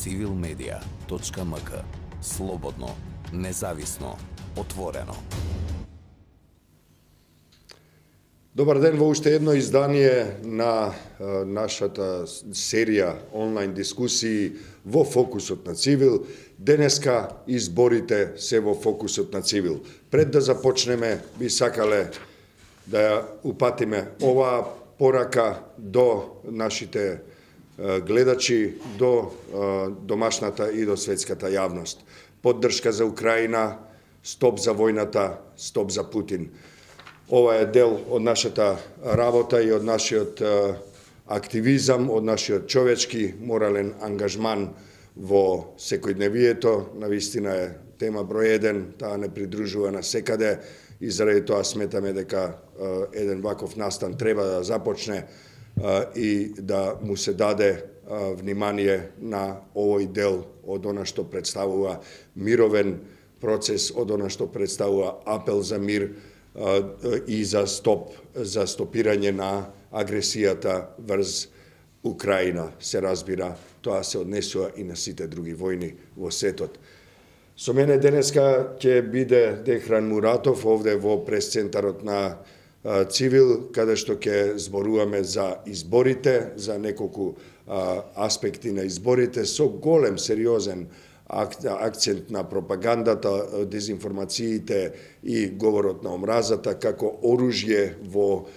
civilmedia.mk. Слободно, независно, отворено. Добар ден во уште едно издание на нашата серија онлайн дискусии во фокусот на Цивил. Денеска изборите се во фокусот на Цивил. Пред да започнеме, би сакале да ја упатиме оваа порака до нашите гледачи, до домашната и до светската јавност. Поддршка за Украина, стоп за војната, стоп за Путин. Ова е дел од нашата работа и од нашиот активизам, од нашиот човечки, морален ангажман во секојдневието. Навистина е тема број 1, таа не придружува на секаде и заради тоа сметаме дека еден ваков настан треба да започне и да му се даде внимание на овој дел од она што представува мировен процес, од она што представува апел за мир и за стопирање на агресијата врз Украина. Се разбира, тоа се однесува и на сите други војни во светот. Со мене денеска ќе биде Дехран Муратов овде во пресцентарот на Цивил, каде што ќе зборуваме за изборите, за неколку аспекти на изборите, со голем, сериозен акцент на пропагандата, дезинформациите и говорот на омразата како оружје во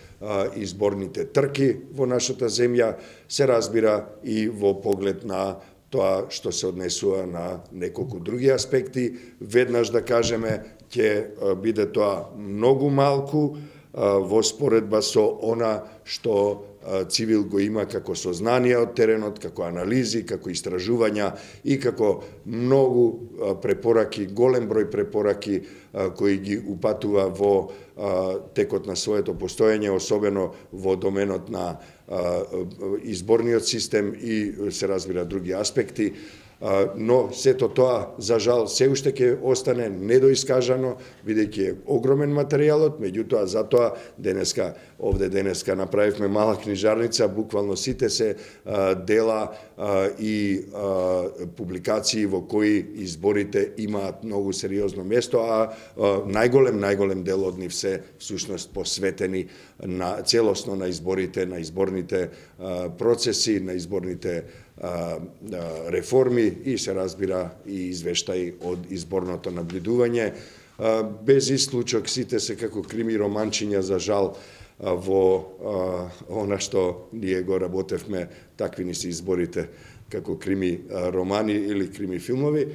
изборните трки во нашата земја, се разбира и во поглед на тоа што се однесува на неколку други аспекти. Веднаш да кажеме, ќе биде тоа многу малку во споредба со она што Цивил го има како сознание од теренот, како анализи, како истражувања и како многу препораки, голем број препораки кои ги упатува во текот на своето постоење, особено во доменот на изборниот систем и се разбира други аспекти. Но сето тоа, за жал, се уште ќе остане недоискажано, бидејќи е огромен материјалот, меѓутоа затоа денеска направивме мала книжарница, буквално сите се дела и публикации во кои изборите имаат многу сериозно место, а најголем дел од нив се всушност посветени целосно на изборите, на изборните процеси, на изборните реформи и се разбира и извештаи од изборното наблюдување. Без исклучок сите се како крими романчиња, за жал, во она што ние го работевме, такви ни се изборите како крими романи или крими филмови.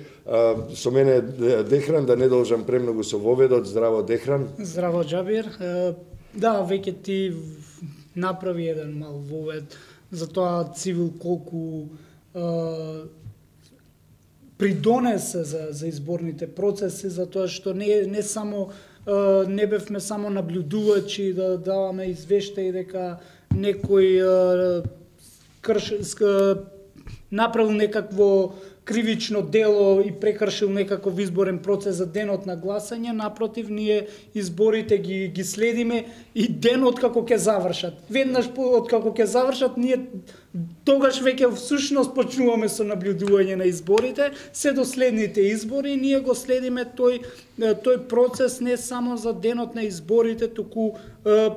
Со мене Дехран, да не должам премногу со воведот. Здраво, Дехран. Здраво, Џабир. Да, веќе ти направи еден мал вовед за тоа Цивил колку придонесе за изборните процеси, за тоа што не само не бевме само наблюдувачи да даваме извештаи дека некој направил некакво кривично дело и прекршил некаков изборен процес за денот на гласање. Напротив, ние изборите ги следиме и денот како ќе завршат. Веднаш од како ќе завршат, ние тогаш веќе всушност почнуваме со наблюдување на изборите, се до следните избори. Ние го следиме тој процес не само за денот на изборите, туку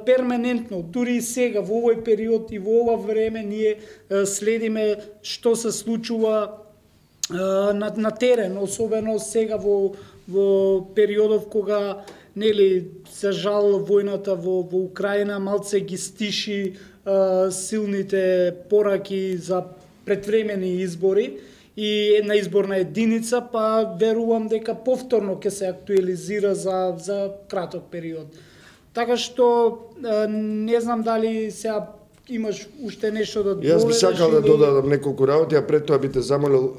перманентно. Дури и сега, во овој период и во ова време, ние следиме што се случува на терен, особено сега во периодов кога за жал војната во Украина малце ги стиши силните пораки за предвремени избори и една изборна единица, па верувам дека повторно ќе се актуализира за краток период. Така што не знам дали сега имаш уште нешто да додадеш? Јас би сакал да додадам неколку работи, а пред тоа би те замолил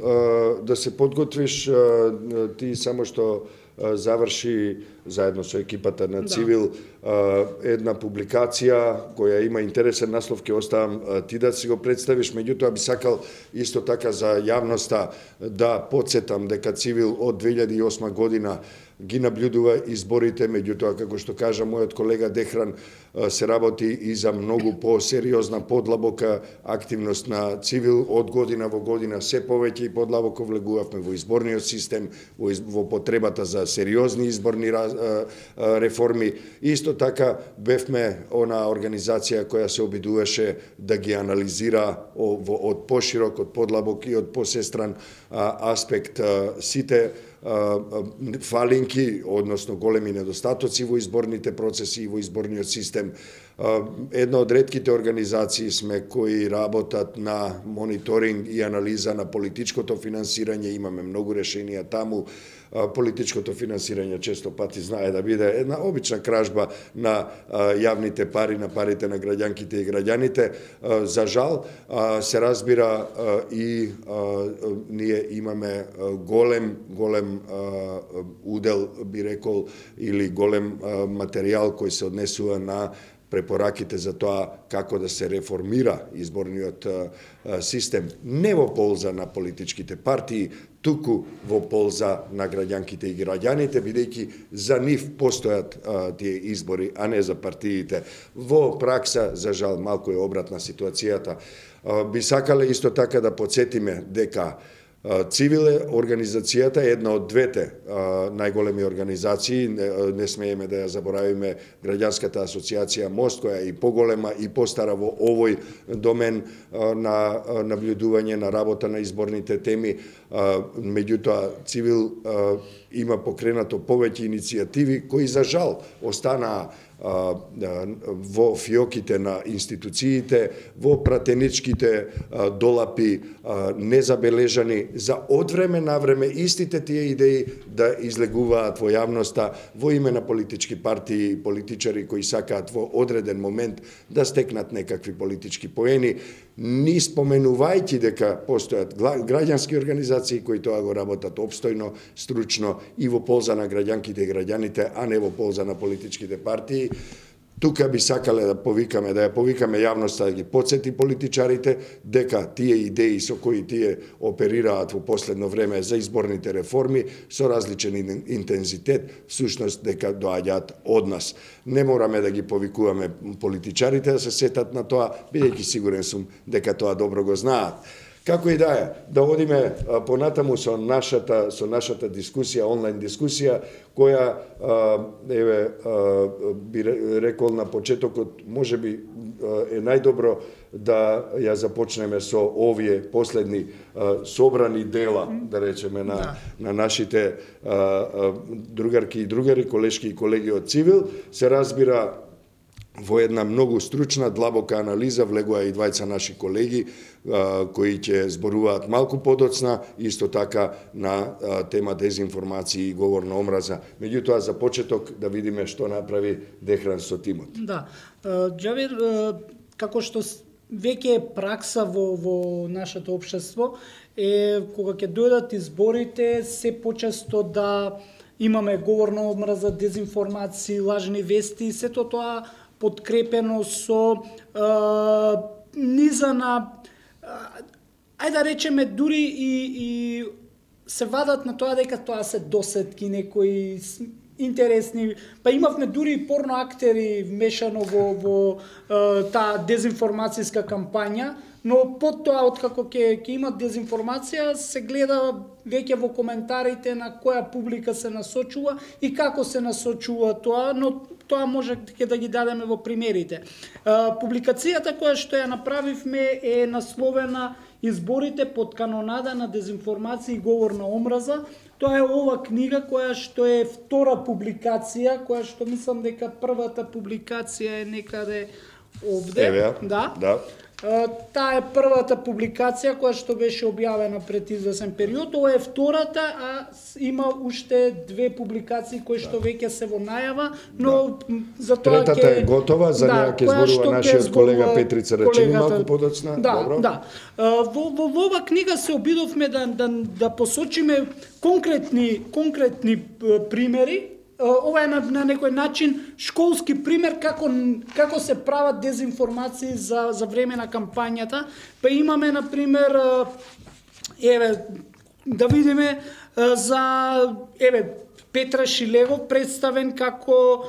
да се подготвиш. Ти само што заврши заедно со екипата на Цивил, една публикација која има интересен наслов, ќе оставам ти да си го представиш, меѓутоа би сакал исто така за јавноста да подсетам дека Цивил од 2008 година ги наблюдува изборите, меѓутоа, како што кажа мојот колега Дехран, се работи и за многу по-сериозна, подлабока активност на Цивил. Од година во година се повеќе и подлабоко влегувавме во изборниот систем, во потребата за сериозни изборни реформи. Исто така бевме она организација која се обидуваше да ги анализира од поширок, од подлабок и од посестран аспект сите фалинки, односно големи недостатоци во изборните процеси и во изборниот систем. Една од ретките организации сме кои работат на мониторинг и анализа на политичкото финансирање, имаме многу решенија таму. Политичкото финансирање често пати знае да биде една обична кражба на јавните пари, на парите на граѓанките и граѓаните. За жал, се разбира и ние имаме голем удел, би рекол, или голем материјал кој се однесува на препораките за тоа како да се реформира изборниот систем, не во полза на политичките партии, туку во полза на граѓанките и граѓаните, бидејќи за нив постојат тие избори, а не за партиите. Во пракса, за жал, малку е обратна ситуацијата. Би сакале исто така да подсетиме дека Цивил е организацијата, една од двете најголеми организации, не смееме да ја заборавиме Граѓанската асоциација Мост, која е и поголема и постара во овој домен на наблюдување на работа на изборните теми. Меѓутоа, Цивил има покренато повеќе иницијативи кои за жал останаа во фиоките на институциите, во пратеничките долапи, незабележани, за од време на време истите тие идеи да излегуваат во јавноста во име на политички партии и политичари кои сакаат во одреден момент да стекнат некакви политички поени, ни споменувајќи дека постојат граѓански организации кои тоа го работат опстојно, стручно и во полза на граѓанките и граѓаните, а не во полза на политичките партии. Тука би сакале да ја повикаме јавноста да ги подсети политичарите дека тие идеи со кои тие оперираат во последно време за изборните реформи со различен интензитет, всушност дека доаѓаат од нас. Не мораме да ги повикуваме политичарите да се сетат на тоа, бидејќи сигурен сум дека тоа добро го знаат. Како и да е, да одиме понатаму со нашата дискусија, онлайн дискусија, која би рекол на почетокот, можеби е најдобро да ја започнеме со овие последни собрани дела, да речеме, на нашите другарки и другари, колешки и колеги од Цивил. Се разбира, во една многу стручна, длабока анализа влегува и двајца наши колеги кои ќе зборуваат малку подоцна, исто така на тема дезинформација и говор на омраза. Меѓутоа, за почеток да видиме што направи Дехран со тимот. Да, Џавер, како што веќе е пракса во нашето општество, е кога ќе дојдат изборите, се почесто да имаме говор на омраза, дезинформација, лажни вести, сето тоа подкрепено со низа на, ајде да речеме, дури и се вадат на тоа дека тоа се досетки, некои интересни, па имавме дури и порно актери вмешано во таа дезинформацијска кампања, но под тоа, откако ќе имат дезинформација, се гледа веќе во коментарите на која публика се насочува и како се насочува тоа, но тоа може да ги дадеме во примерите. Публикацијата која што ја направивме е насловена "Изборите под канонада на дезинформација и говор на омраза". Тоа е ова книга која што е втора публикација, која што мислам дека првата публикација е некаде овде. Еве, да. Таа е првата публикација која што беше објавена пред извесен период. Ова е втората, а има уште две публикации кои што веќе се во најава, но за тоа третата е готова, за неа ќе зборува нашиот колега Петрица Рачини малку подоцна. Добро. Да. Во ова книга се обидовме да посочиме конкретни примери ова е на некој начин школски пример како се прават дезинформации за време на кампањата. Па имаме на пример да видиме за Петра Шилегов представен како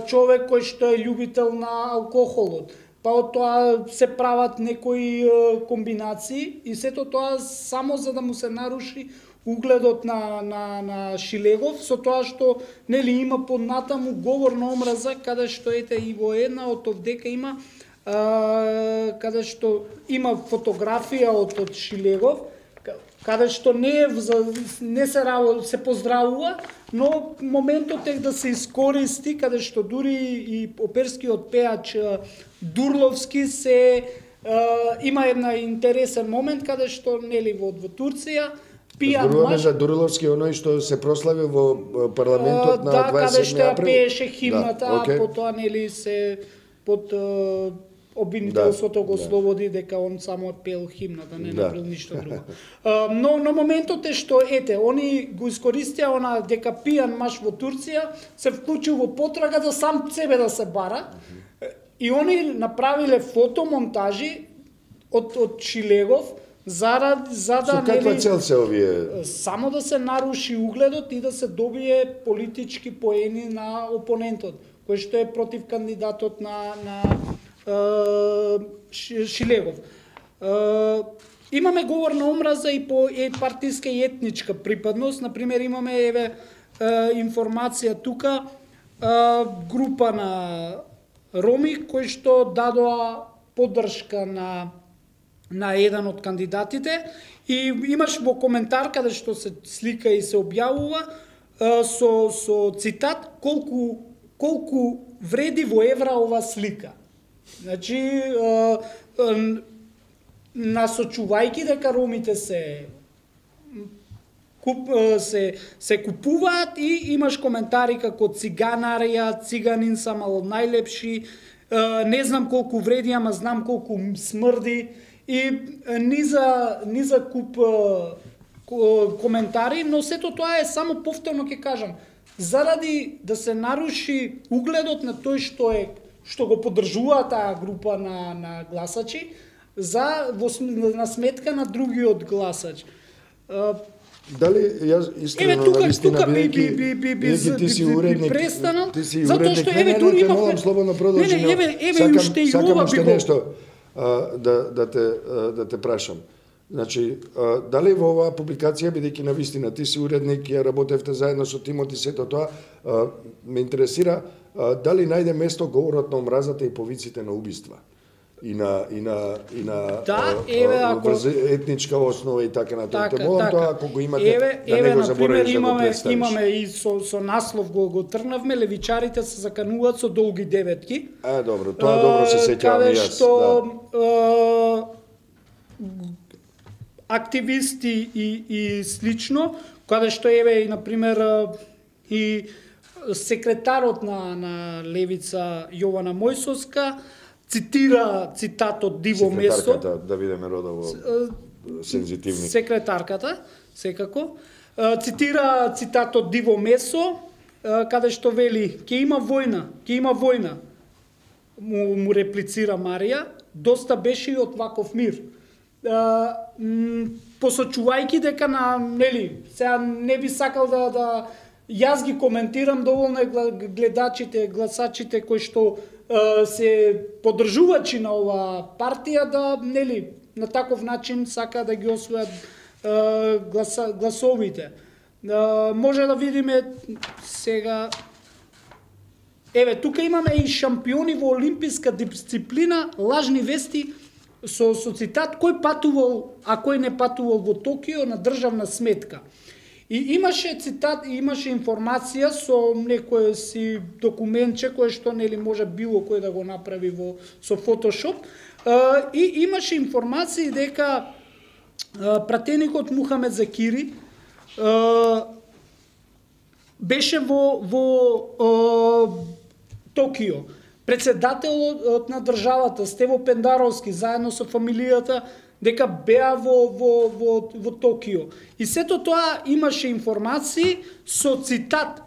човек кој што е љубител на алкохолот. Па од тоа се прават некои комбинации и сето тоа само за да му се наруши угледот на Шилегов, со тоа што нели има поднатаму говор на омраза, каде што ете и во една од овдека има каде што има фотографија од Шилегов, каде што не се поздравува, но моментот е да се искористи, каде што дури и оперскиот пеач Дурловски има една интересен момент каде што нели во Турција пијан маж за Дурловски, оној што се прослави во парламентот на 27 април. Да, каде што ја пееше химната, а потоа нели се под обвинителството го слободи дека он само пел химната, не направил ништо друго. Но моментот е што они го искористија она дека пијан маж во Турција се вклучил во потрага да сам себе да се бара. И они направиле фотомонтажи од Шилегов за да со каква цел се овие? Само да се наруши угледот и да се добие политички поени на опонентот, кој што е против кандидатот на Шилегов. Имаме говор на омраза и по партиска и етничка припадност. Например, имаме информација тука група на роми кои што дадоа поддршка на еден од кандидатите и имаш во коментар каде што се слика и се објавува со цитат колку вреди во евра ова слика. Значи, насочувајќи дека ромите се купуваат и имаш коментари како циганарија, циганин сам ал најлепши, не знам колку вреди, ама знам колку смрди и низа куп коментари, но сето тоа е само повторно ќе кажам, заради да се наруши угледот на тој што го поддржува таа група на гласачи на сметка на другиот гласач. Дали јас искрено навистина бидејќи ти си уредник, затоа што дури имавме слободно продолжи, сакам уште нешто да те прашам. Значи, дали во оваа публикација, бидејќи навистина ти си уредник, ја работевте заедно со тимот и сето тоа, ме интересира дали најде место говорот на омразата и повиците на убиства? И на етничка основа и така натаму. Молам тоа ако го имате да не го заборавиш да го представиш. Имаме и со наслов го тргнавме, левичарите се закануваат со долги деветки. Добро, тоа добро се сеќавам и јас. Активисти и слично, каде што и на пример и секретарот на Левица Јована Мојсовска цитира цитат од Диво Месо. Секретарката, да видиме родово сензитивни. Секретарката, секако. Цитира цитат од Диво Месо, каде што вели, ќе има војна. Му реплицира Марија, доста беше и од ваков мир. Посочувајќи дека сега не би сакал да јас ги коментирам, доволно е гледачите, гласачите кои што се поддржувачи на ова партија да на таков начин сака да ги освојат гласовите. Може да видиме сега тука имаме и шампиони во олимписка дисциплина, лажни вести со цитат кој патувал, а кој не патувал во Токио на државна сметка. И имаше цитат, имаше информација со некој си документче кој што може било кој да го направи со Photoshop, и имаше информации дека пратеникот Мухамед Закири беше во Токио. Председателот на државата Стево Пендаровски заедно со фамилијата дека беа во Токио. И сето тоа имаше информации со цитат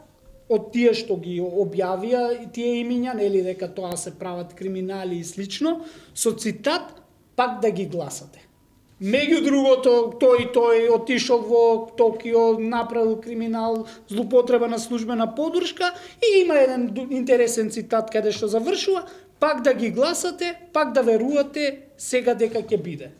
од тие што ги објавија тие имиња, нели дека тоа се прават криминали и слично, со цитат пак да ги гласате. Меѓу другото, тој отишол во Токио, направил криминал, злупотреба на службена подршка и има еден интересен цитат каде што завршува, пак да ги гласате, пак да верувате сега дека ќе биде.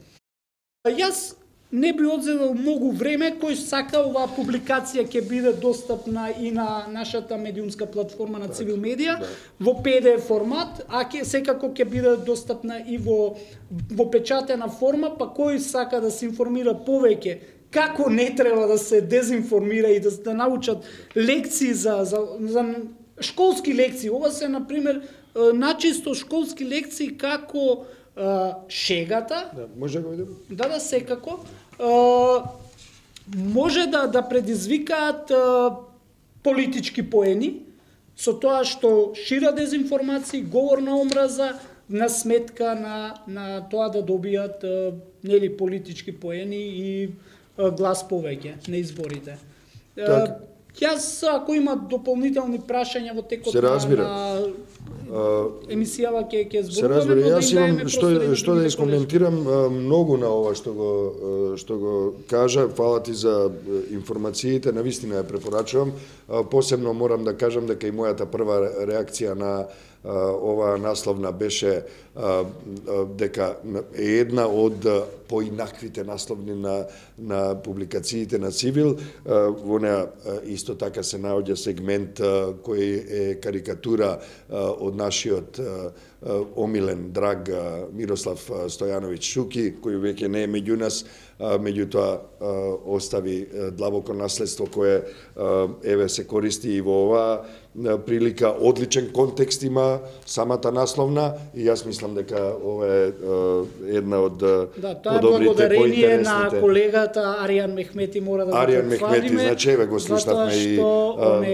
Јас не би одзел многу време, кој сака оваа публикација ќе биде достапна и на нашата медиумска платформа на Цивил Медија во PDF формат, а секако ќе биде достапна и во печатена форма, па кој сака да се информира повеќе како не треба да се дезинформира и да научат лекции за школски лекции. Ова се, например, начисто школски лекции како шегата. Да, може да го видим? Да, секако. Може да предизвикаат политички поени со тоа што шира дезинформации, говор на омраза на сметка на тоа да добијат нели политички поени и глас повеќе на изборите. Јас, ако има дополнителни прашања во текот на емисијава ќе зборуваме. Се разбира, јас имам што да искоментирам многу на ова што го кажа. Фала ти за информациите, навистина ја препорачувам. Посебно морам да кажам дека и мојата прва реакција на оваа насловна беше дека е една од поинаквите насловни на публикациите на Цивил. Во неа исто така се наоѓа сегмент кој е карикатура од нашиот омилен, драг Мирослав Стојановиќ Шуки, кој веќе не е меѓу нас, меѓутоа остави длабоко наследство кое еве се користи и во оваа прилика. Одличен контекст има самата насловна и јас мислам дека ова е една од подобрите, благодарение на колегата Аријан Мехмети, мора да го Аријан Мехмети, значи еве го слушнавме и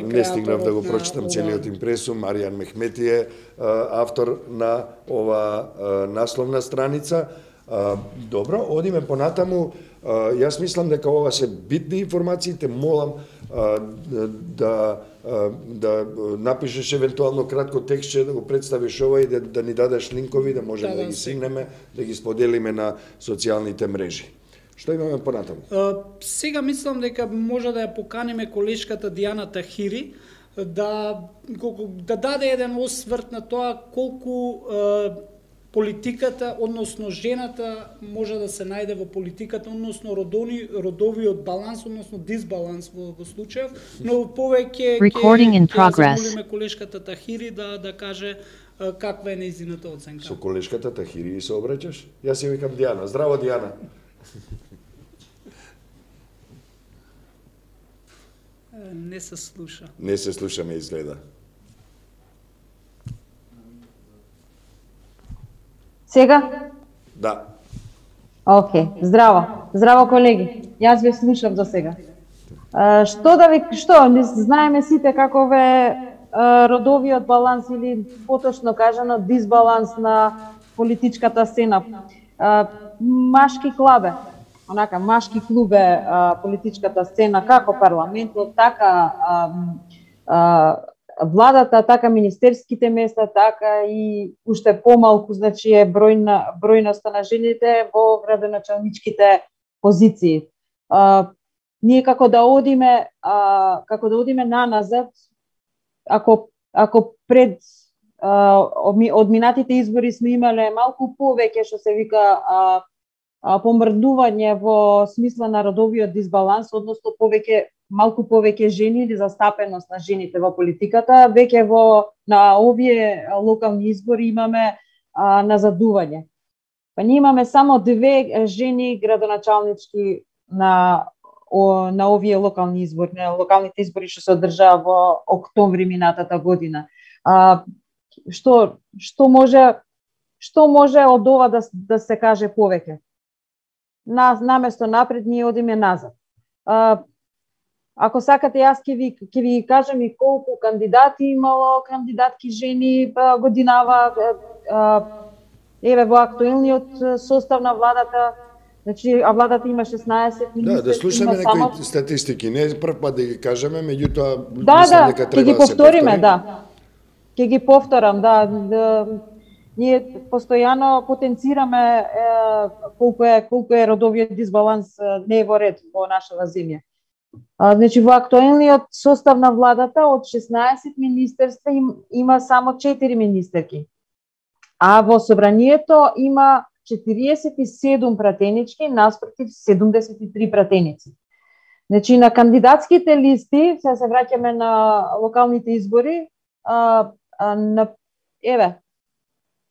не стигнав да го прочитам целиот импресум. Аријан Мехмети е автор на ова насловна страница. Добро, одиме понатаму. Јас мислам дека ова се битни информации, те молам да напишеш евентуално кратко текстче, да го представиш ова и да ни дадеш линкови, да можеме да ги сигнеме, да ги споделиме на социјалните мрежи. Што имаме понатаму? Сега мислам дека може да ја поканиме колешката Дијана Тахири да даде еден осврт на тоа колку политиката, односно жената може да се најде во политиката, односно родовиот баланс, односно дисбаланс во случајов, но повеќе ќе замолиме колешката Тахири да каже каква е нејзината оценка. Со колешката Тахири се обраќаш? Јас ја викам Дијана. Здраво, Дијана. Не се слуша. Не се слуша, ме изгледа. Сега? Да. Океј, здраво. Здраво, колеги. Јас ве слушам до сега. Што, не знаеме сите каков е родовиот баланс или поточно кажано дисбаланс на политичката сцена. Машки клуб е политичката сцена, како парламентот, така владата, така министерските места, така и уште помалку, значи е бројноста на жените во градоначалничките позиции. Ние како да одиме наназад, ако пред од минатите избори сме имале малку повеќе што се вика помрдување во смисла на родовиот дисбаланс, односно малку повеќе жени или застапеност на жените во политиката, веќе на овие локални избори имаме назадување. Па ние имаме само 2 жени градоначалнички на овие локални избори, на локалните избори што се одржаа во октомври минатата година. Што може од ова да се каже повеќе? Наместо напред, ние одиме назад. Ако сакате, јас ќе ви кажам и колку кандидати имало, кандидатки жени годинава. Еве во актуелниот состав на владата Значи, а владата има 16 министри. Да слушаме некои статистики, не прв пат да ги кажеме, меѓутоа мислам дека ќе треба ги да се повториме, повтори. да. Ќе ги повторам, да. Ние постојано потенцираме колку е родовиот дисбаланс не е во ред во нашава земја. Значи, во актуелниот состав на владата од 16 министерства има само 4 министерки. А во собранието има 47 пратенички наспротив 73 пратеници. Значи, на кандидатските листи, се враќаме на локалните избори,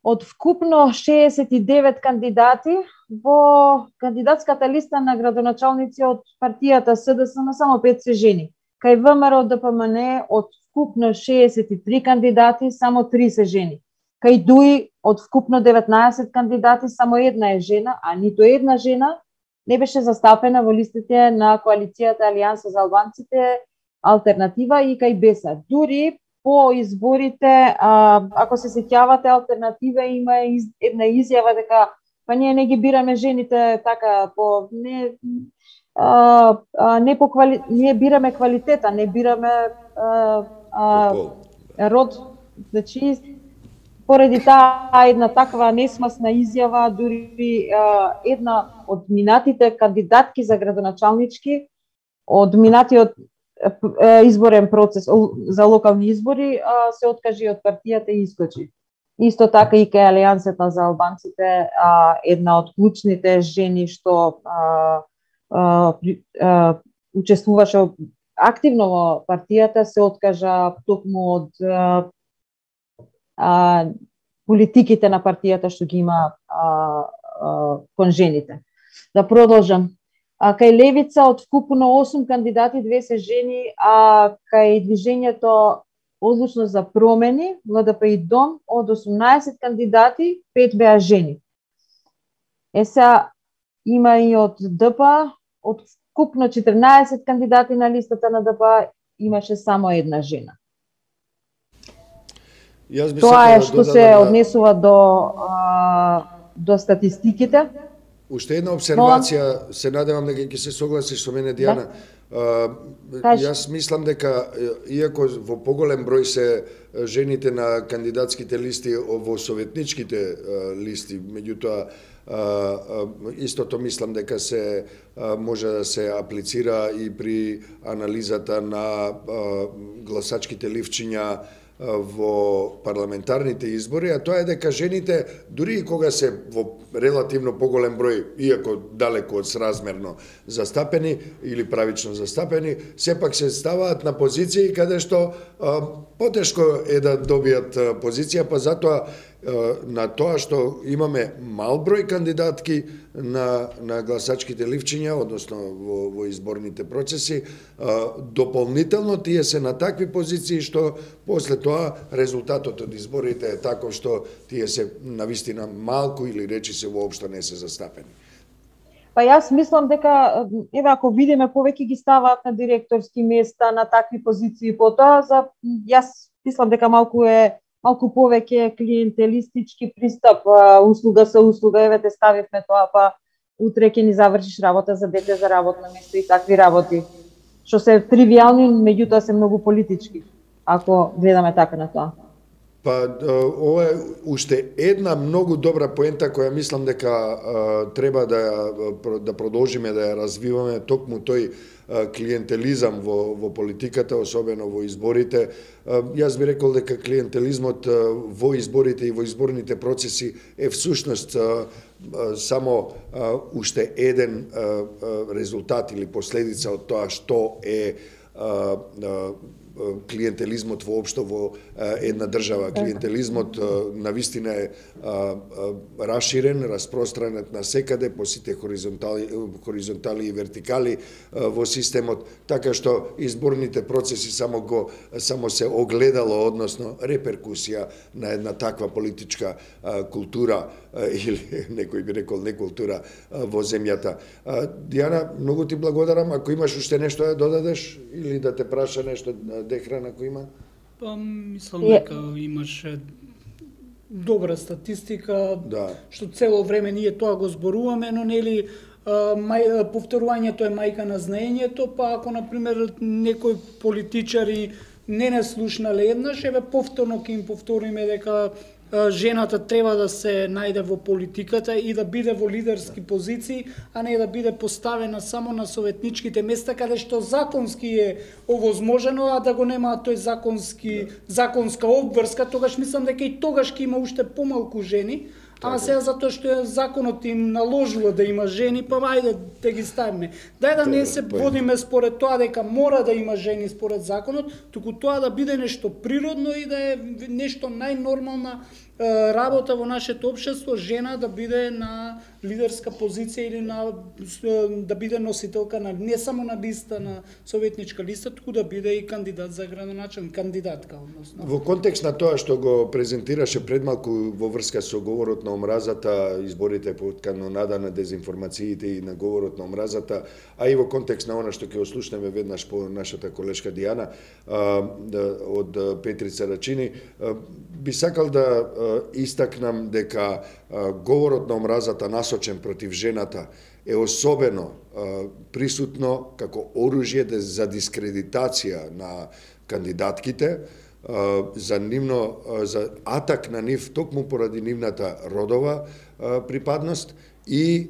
од вкупно 69 кандидати, во кандидатската листа на градоначалници од партијата СДСМ само 5 се жени. Кај ВМРО ДПМН од вкупно 63 кандидати, само 3 се жени. Кај ДУИ од вкупно 19 кандидати, само една е жена, а ниту една жена не беше застапена во листите на коалицијата Алијанса за албанците, Алтернатива и кај БЕСА. Дури по изборите, ако се сеќавате, Алтернатива има една изјава дека па ние не ги бираме жените така по ние бираме квалитета, не бираме род. Значи, поради таа една таква несмасна изјава, дури една од минатите кандидатки за градоначалнички, од минатиот изборен процес за локални избори, се откажи од партијата и искочи. Исто така и кај Алијансата за албанците, една од клучните жени што учествуваше активно во партијата, се откажа токму од политиките на партијата што ги има кон жените. Да продолжам. Кај Левица од вкупно 8 кандидати, 2 се жени, а кај Движењето Одлучност за промени, ЛДП и ДОМ, од 18 кандидати, 5 беа жени. Сега има и од ДП, од вкупно 14 кандидати на листата на ДП, имаше само една жена. Тоа е што се однесува до статистиките. Уште една обсервација, се надевам дека ќе се согласиш со мене, Дијана. Јас мислам дека, иако во поголем број се жените на кандидатските листи во советничките листи, меѓутоа истото мислам дека се може да се аплицира и при анализата на гласачките ливчиња во парламентарните избори, а тоа е дека жените, дури и кога се во релативно поголем број, иако далеку од сразмерно застапени или правично застапени, сепак се ставаат на позиции каде што потешко е да добијат позиција, па затоа на тоа што имаме мал број кандидатки на гласачките ливчиња, односно во изборните процеси, дополнително тие се на такви позиции што после тоа резултатот од изборите е таков што тие се навистина малку или речи се воопшто не се застапени. Па јас мислам дека, ако видиме, повеќе ги ставаат на директорски места, на такви позиции, потоа, јас мислам дека малку повеќе клиентелистички пристап, услуга со услуга, еве те ставивме тоа, па утре ќе ни завршиш работа за дете, за работно место и такви работи, што се тривијални, меѓутоа се многу политички, ако гледаме така на тоа. Па, ова е уште една многу добра поента која мислам дека треба да продолжиме да ја развиваме, токму тој клиентелизам во политиката, особено во изборите. Јас би рекол дека клиентелизмот во изборите и во изборните процеси е всушност само уште еден резултат или последица од тоа што е клиентелизмот воопшто во една држава. Клиентелизмот навистина е расширен, распространет на секаде по сите хоризонтали и вертикали во системот, така што изборните процеси само се огледало, односно реперкусија на една таква политичка култура или некој би рекол некултура во земјата. Дијана, многу ти благодарам. Ако имаш уште нешто да додадеш или да те праша нешто, Дехран, ако има? Па, мислам дека имаше добра статистика, што цело време ние тоа го зборуваме, но нели повторувањето е мајка на знаењето, па ако на пример некои политичари не слушнале еднаш, еве повторно ќе им повториме дека жената треба да се најде во политиката и да биде во лидерски позиции, а не да биде поставена само на советничките места каде што законски е овозможено, а да го нема тој законска обврска, тогаш мислам дека и тогаш ќе има уште помалку жени. А сега затоа што законот им наложува да има жени, па ајде да ги ставиме. Дај да не се водиме според тоа дека мора да има жени според законот, туку тоа да биде нешто природно и да е нешто најнормална работа во нашето општество, жена да биде на лидерска позиција или да биде носителка на не само на листа, на советничка листа, туку да биде и кандидат за градоначалник, кандидатка односно. Во контекст на тоа што го презентираше пред малку во врска со говорот на омразата, изборите под канонада на дезинформациите и на говорот на омразата, а и во контекст на она што ќе ослушнеме веднаш по нашата колешка Дијана од Петрица Рачини, би сакал да истакнам дека говорот на омразата насочен против жената е особено присутно како оружје за дискредитација на кандидатките, за атак на нив токму поради нивната родова припадност и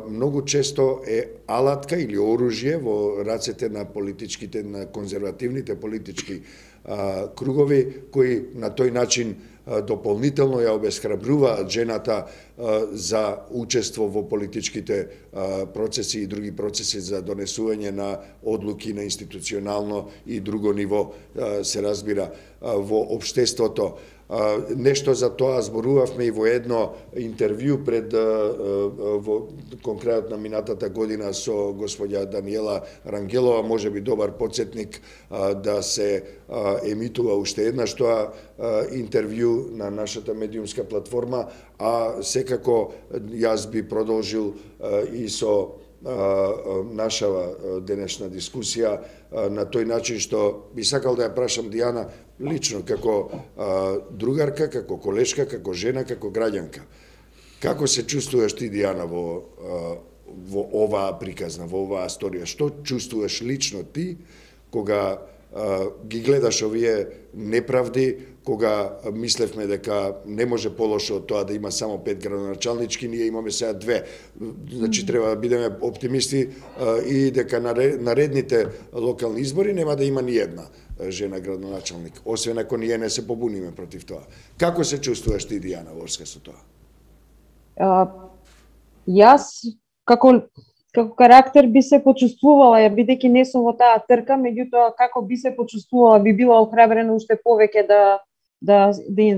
многу често е алатка или оружје во рацете на политичките, на конзервативните политички кругови, кои на тој начин дополнително ја обесхрабруваат жената за учество во политичките процеси и други процеси за донесување на одлуки на институционално и друго ниво, се разбира, во општеството. Нешто за тоа зборувавме и во едно интервју пред во конкретно на минатата година со господја Даниела Рангелова, можеби добар потсетник да се емитува уште еднаш тоа интервју на нашата медиумска платформа, а секако јас би продолжил и со нашава денешна дискусија на тој начин што би сакал да ја прашам Дијана лично како другарка, како колешка, како жена, како граѓанка. Како се чувствуваш ти, Дијана, во оваа приказна, во оваа сторија? Што чувствуваш лично ти кога ги гледаш овие неправди, кога мислевме дека не може полошо од тоа да има само 5 градоначалнички, ние имаме сега 2. Значи треба да бидеме оптимисти и дека на наредните локални избори нема да има ни една жена градоначалник, освен ако ние не се побуниме против тоа. Како се чувствуваш ти, Дијана, во врска со тоа? Јас како карактер би се почувствувала, бидејќи не сум во таа трка, меѓутоа како би се почувствувала, би била охрабрена уште повеќе да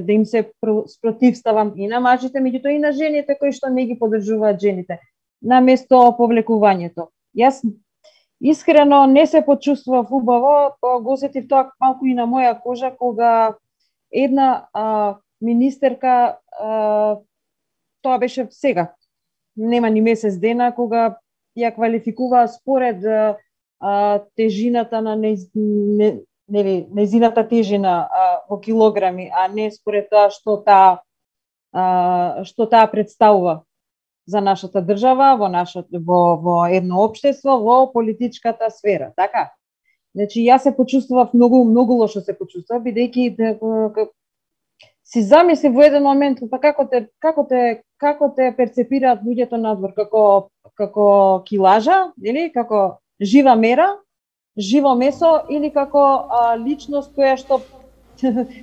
им се спротивставам и на мажите, меѓутоа и на жените кои што не ги поддржуваат жените, на место повлекувањето. Јас искрено не се почувствував убаво, го осетив тоа малку и на моја кожа, кога една министерка, тоа беше сега, нема ни месец дена, кога ја квалификуваа според тежината на нејзината тежина во килограми, а не според тоа што таа представува за нашата држава, во едно општество, во политичката сфера, така? Значи, јас се почувствував многу лошо се почувствував, бидејќи си замисли во еден момент како те перцепираат луѓето надвор, како килажа, или како жива мера, живо месо, или како личност која што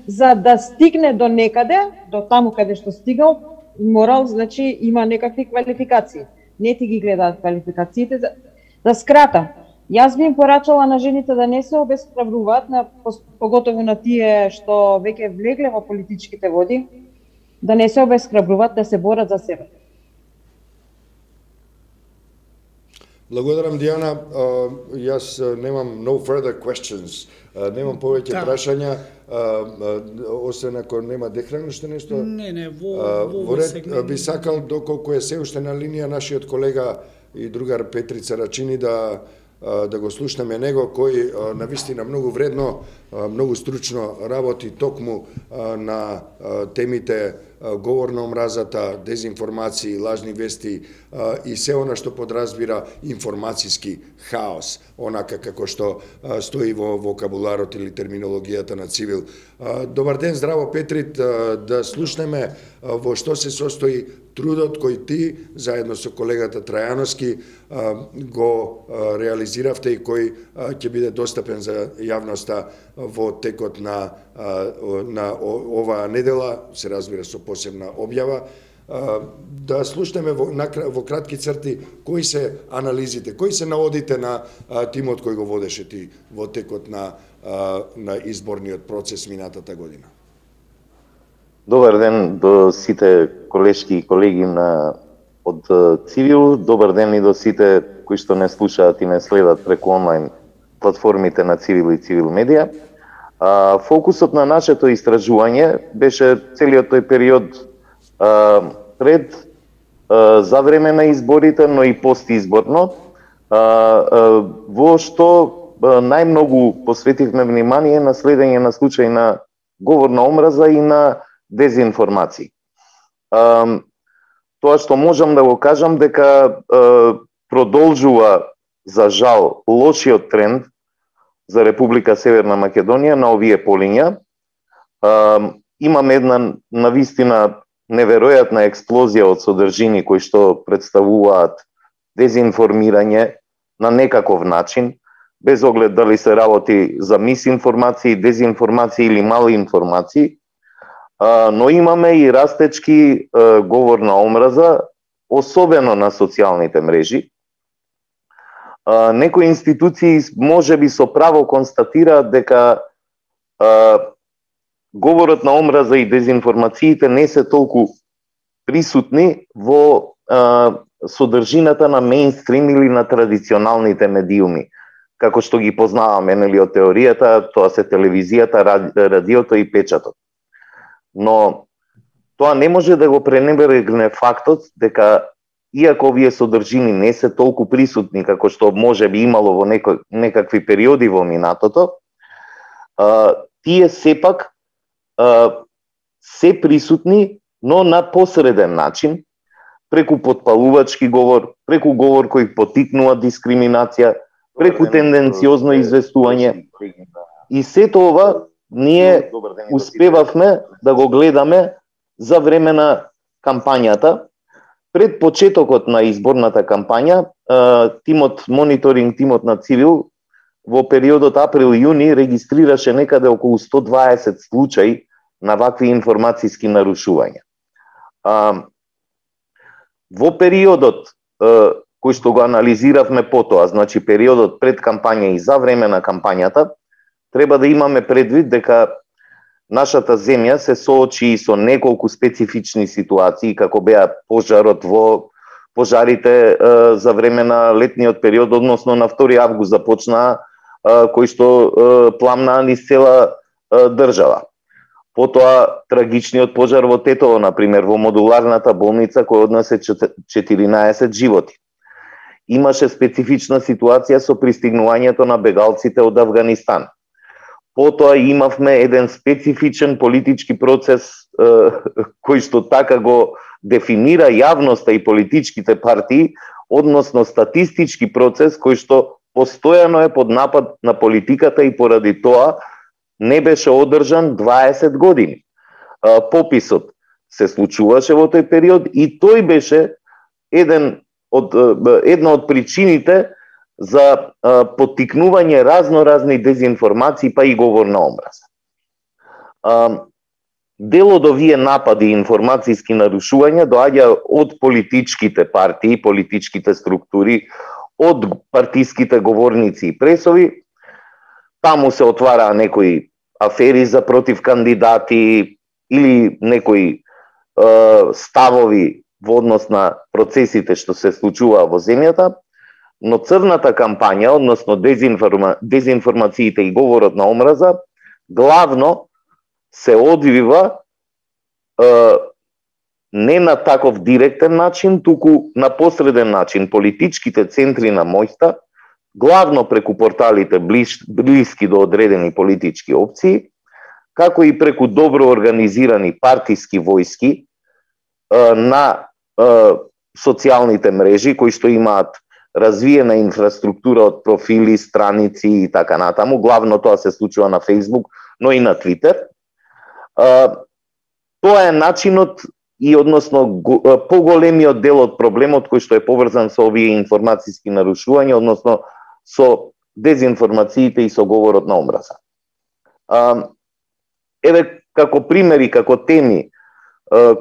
за да стигне до некаде, до таму каде што стигал, морал, значи има некакви квалификации. Не ти ги гледаат квалификациите. Да скратам, јас би им порачала на жените да не се обесхрабруваат, поготово на тие што веќе влегле во политичките води, да не се обесхрабруваат, да се борат за себе. Благодарам, Дијана. Јас немам no further questions. Немам повеќе прашања, освен ако нема Дехран уште нешто. Не, во ред би сакал, доколку е се уште на линија, нашиот колега и другар Петрица Рачини да да го слушнеме него, кој навистина многу вредно, многу стручно работи токму на темите говор на омразата, дезинформации, лажни вести и се она што подразбира информацијски хаос, онака како што стои во вокабуларот или терминологијата на Цивил. Добар ден, здраво Петрит, да слушнеме во што се состои трудот кој ти, заедно со колегата Трајановски, го реализиравте и кој ќе биде достапен за јавноста во текот на оваа недела, се разбира со посебна објава. Да слушнеме во кратки црти кои се анализите, кои се наводите на тимот кој го водеше ти во текот на изборниот процес минатата година. Добар ден до сите колешки и колеги од Цивил, добар ден и до сите кои што не слушаат и не следат преку онлайн платформите на Цивил и Цивил медија. Фокусот на нашето истражување беше целиот тој период пред, за време на изборите, но и постизборно, во што најмногу посветивме внимание на следење на случаи на говор на омраза и на дезинформации. Тоа што можам да го кажам дека продолжува, за жал, лошиот тренд за Република Северна Македонија на овие полиња. Имаме една навистина неверојатна експлозија од содржини кои што представуваат дезинформирање на некаков начин, без оглед дали се работи за мисинформации, дезинформации или мали информации, но имаме и растечки говор на омраза, особено на социјалните мрежи. Некои институции можеби со право констатираат дека говорот на омраза и дезинформациите не се толку присутни во содржината на мејнстрим или на традиционалните медиуми, како што ги познаваме, нели, од теоријата, тоа се телевизијата, радиото и печатот. Но тоа не може да го пренебрегне фактот дека иако овие содржини не се толку присутни како што може би имало во некакви периоди во минатото, тие сепак се присутни, но на посреден начин, преку потпалувачки говор, преку говор кој поттикнува дискриминација, преку тенденциозно известување. И сето ова ние успевавме да го гледаме за време на кампањата. Пред почетокот на изборната кампања, мониторинг тимот на Цивил во периодот април-јуни регистрираше некаде околу 120 случаи на вакви информацијски нарушувања. Во периодот кој што го анализиравме потоа, значи периодот пред кампања и за време на кампањата, треба да имаме предвид дека нашата земја се соочи со неколку специфични ситуации, како беа пожарите за време на летниот период, односно на 2 август започнаа, кои што пламнаа низ цела држава. Потоа трагичниот пожар во Тетово, например, во модуларната болница кој однесе 14 животи. Имаше специфична ситуација со пристигнувањето на бегалците од Авганистан. Потоа имавме еден специфичен политички процес кој што така го дефинира јавноста и политичките партии, односно статистички процес кој што постојано е под напад на политиката и поради тоа не беше одржан 20 години. Пописот се случуваше во тој период и тој беше една од причините за поттикнување разноразни дезинформации па и говор на омраза. Дел од овие напади и информацијски нарушувања доаѓа од политичките партии, политичките структури, од партиските говорници и пресови. Таму се отвараа некои афери за против кандидати или некои ставови во однос на процесите што се случуваа во земјата, но црната кампања, односно дезинформациите и говорот на омраза, главно се одвива не на таков директен начин, туку на посреден начин. Политичките центри на моќта главно преку порталите блиски до одредени политички опции, како и преку добро организирани партиски војски на социјалните мрежи кои што имаат развиена инфраструктура од профили, страници и така натаму. Главно тоа се случува на Facebook, но и на Twitter. Тоа е начинот и односно поголемиот дел од проблемот кој што е поврзан со овие информацијски нарушувања, односно со дезинформациите и со говорот на омраза. Еве како примери, како теми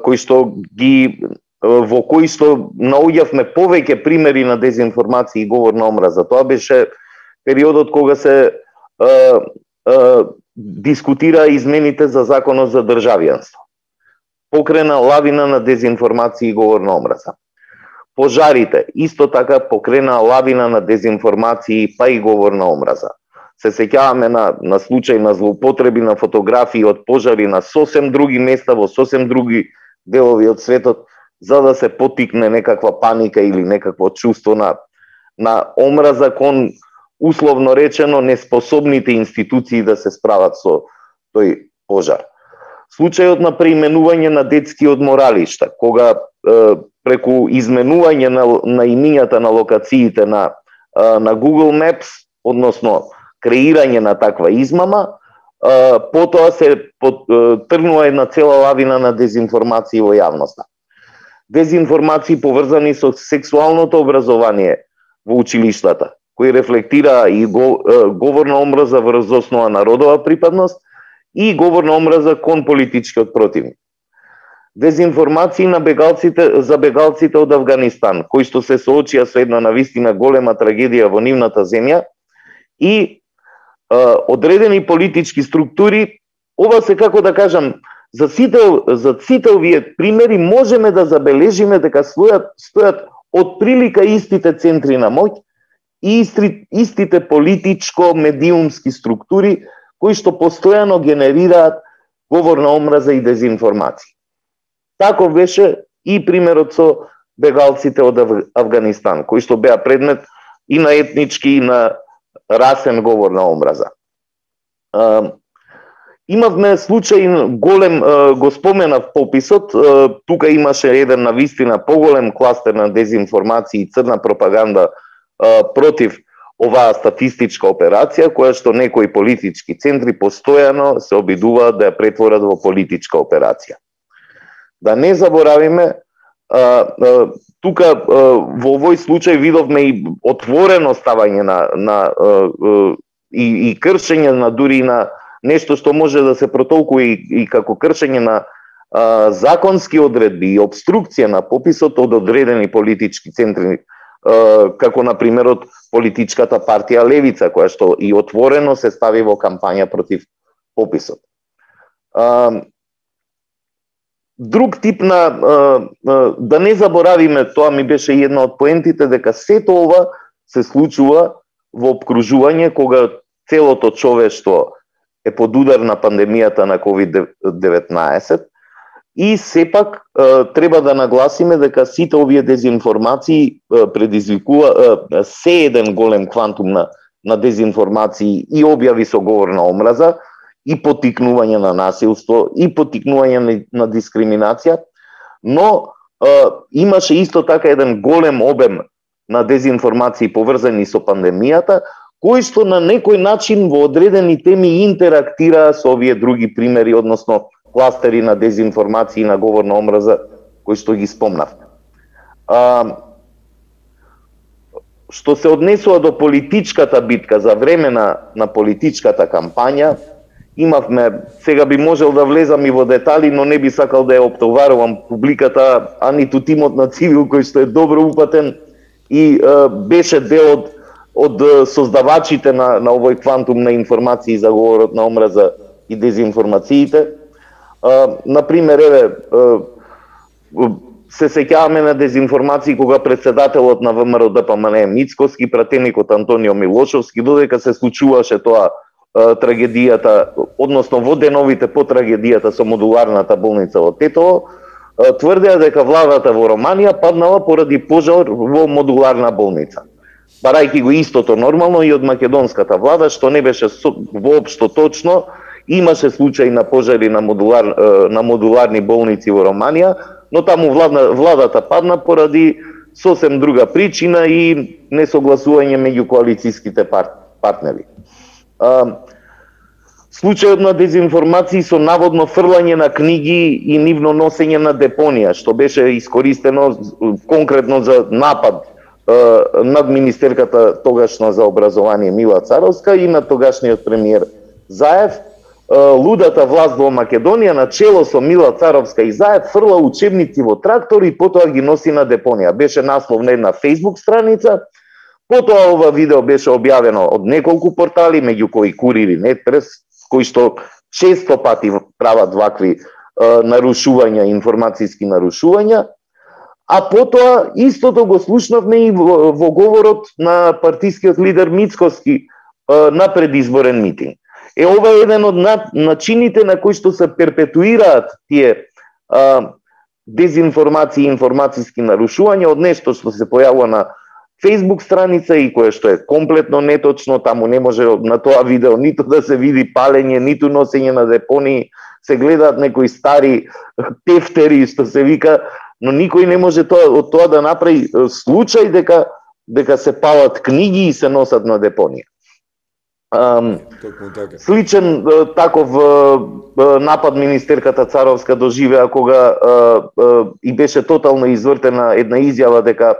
кои што ги во кои што наоѓавме повеќе примери на дезинформација и говор на омраза. Тоа беше периодот кога се дискутира измените за законот за државјанство. Покрена лавина на дезинформација и говор на омраза. Пожарите исто така покрена лавина на дезинформација па и говор на омраза. Се сеќаваме на случај на злоупотреби на фотографии од пожари на сосем други места во сосем други делови од светот, за да се потикне некаква паника или некакво чувство на омраза кон, условно речено, неспособните институции да се справат со тој пожар. Случајот на преименување на детски одморалишта, кога преку изменување на имињата на локациите на Google Maps, односно креирање на таква измама, потоа се тргнува една цела лавина на дезинформации во јавноста. Дезинформации поврзани со сексуалното образование во училиштата, кои рефлектира и говор на омраза врз основа на родова припадност и говор на омраза кон политичкиот противник. Дезинформации за бегалците од Авганистан, кои што се соочија со една навистина голема трагедија во нивната земја и одредени политички структури. Ова се, како да кажам, за сите овие примери можеме да забележиме дека стојат од прилика истите центри на моќ и истите политичко-медиумски структури кои што постојано генерираат говор на омраза и дезинформација. Тако беше и примерот со бегалците од Авганистан, кои што беа предмет и на етнички и на расен говор на омраза. Имавме случај голем, го споменав пописот, тука имаше еден навистина поголем кластер на дезинформација и црна пропаганда против оваа статистичка операција, која што некои политички центри постојано се обидуваат да ја претворат во политичка операција. Да не заборавиме, тука во овој случај видовме и отворено ставање и кршење на дури на нешто што може да се протолкува и како кршење на законски одредби и обструкција на пописот од одредени политички центри, како на примерот политичката партија Левица, која што и отворено се стави во кампања против пописот. Друг тип да не заборавиме, тоа ми беше една од поентите, дека сето ова се случува во обкружување кога целото човештво е под удар на пандемијата на COVID-19 и сепак треба да нагласиме дека сите овие дезинформации предизвикува се еден голем квантум на дезинформации и објави со говор на омраза и поттикнување на насилство и поттикнување на дискриминација, но имаше исто така еден голем обем на дезинформации поврзани со пандемијата, кои што на некој начин во одредени теми интерактираа со овие други примери, односно кластери на дезинформации и на говор на омраза, кои што ги спомнавме. Што се однесува до политичката битка за време на политичката кампања, имавме, сега би можел да влезам и во детали, но не би сакал да ја оптоварувам публиката, а ниту тимот на Цивил, кој што е добро упатен и беше дел од создавачите на овој квантум на информации за говорот на омраза и дезинформациите. Например, еве, се сеќаваме на дезинформации кога председателот на ВМРО ДПМН Мицкоски, пратеникот Антонио Милошовски, додека се случуваше тоа трагедијата, односно во деновите по трагедијата со модуларната болница во Тетово, тврдеа дека владата во Романија паднала поради пожар во модуларна болница. барајќи го истото нормално и од македонската влада, што не беше воопшто точно. Имаше случаи на пожари на модуларни болници во Романија, но таму владата падна поради сосем друга причина и несогласување меѓу коалицијските партнери. Случајот на дезинформации со наводно фрлање на книги и нивно носење на депонија, што беше искористено конкретно за напад над министерката тогашна за образование Мила Царовска и на тогашниот премиер Заев. Лудата власт во Македонија на чело со Мила Царовска и Заев фрла учебници во трактор и потоа ги носи на депонија. Беше наслов на една Facebook страница. Потоа ова видео беше објавено од неколку портали, меѓу кои Курир и Нетпрес, кои што често пати прават вакви нарушувања, информацијски нарушувања. А потоа истото го слушнавме и во говорот на партискиот лидер Мицкоски на предизборен митинг. Ова е еден од начините на кои што се перпетуираат тие дезинформации и информацијски нарушувања од нешто што се појавува на Facebook страница и кое што е комплетно неточно. Таму не може на тоа видео ниту да се види палење, ниту носење на депонии, се гледаат некои стари тефтери што се вика, но никој не може од тоа да направи случај дека се палат книги и се носат на депонија. Сличен таков напад министерката Царовска доживеа кога и беше тотално извртена една изјава дека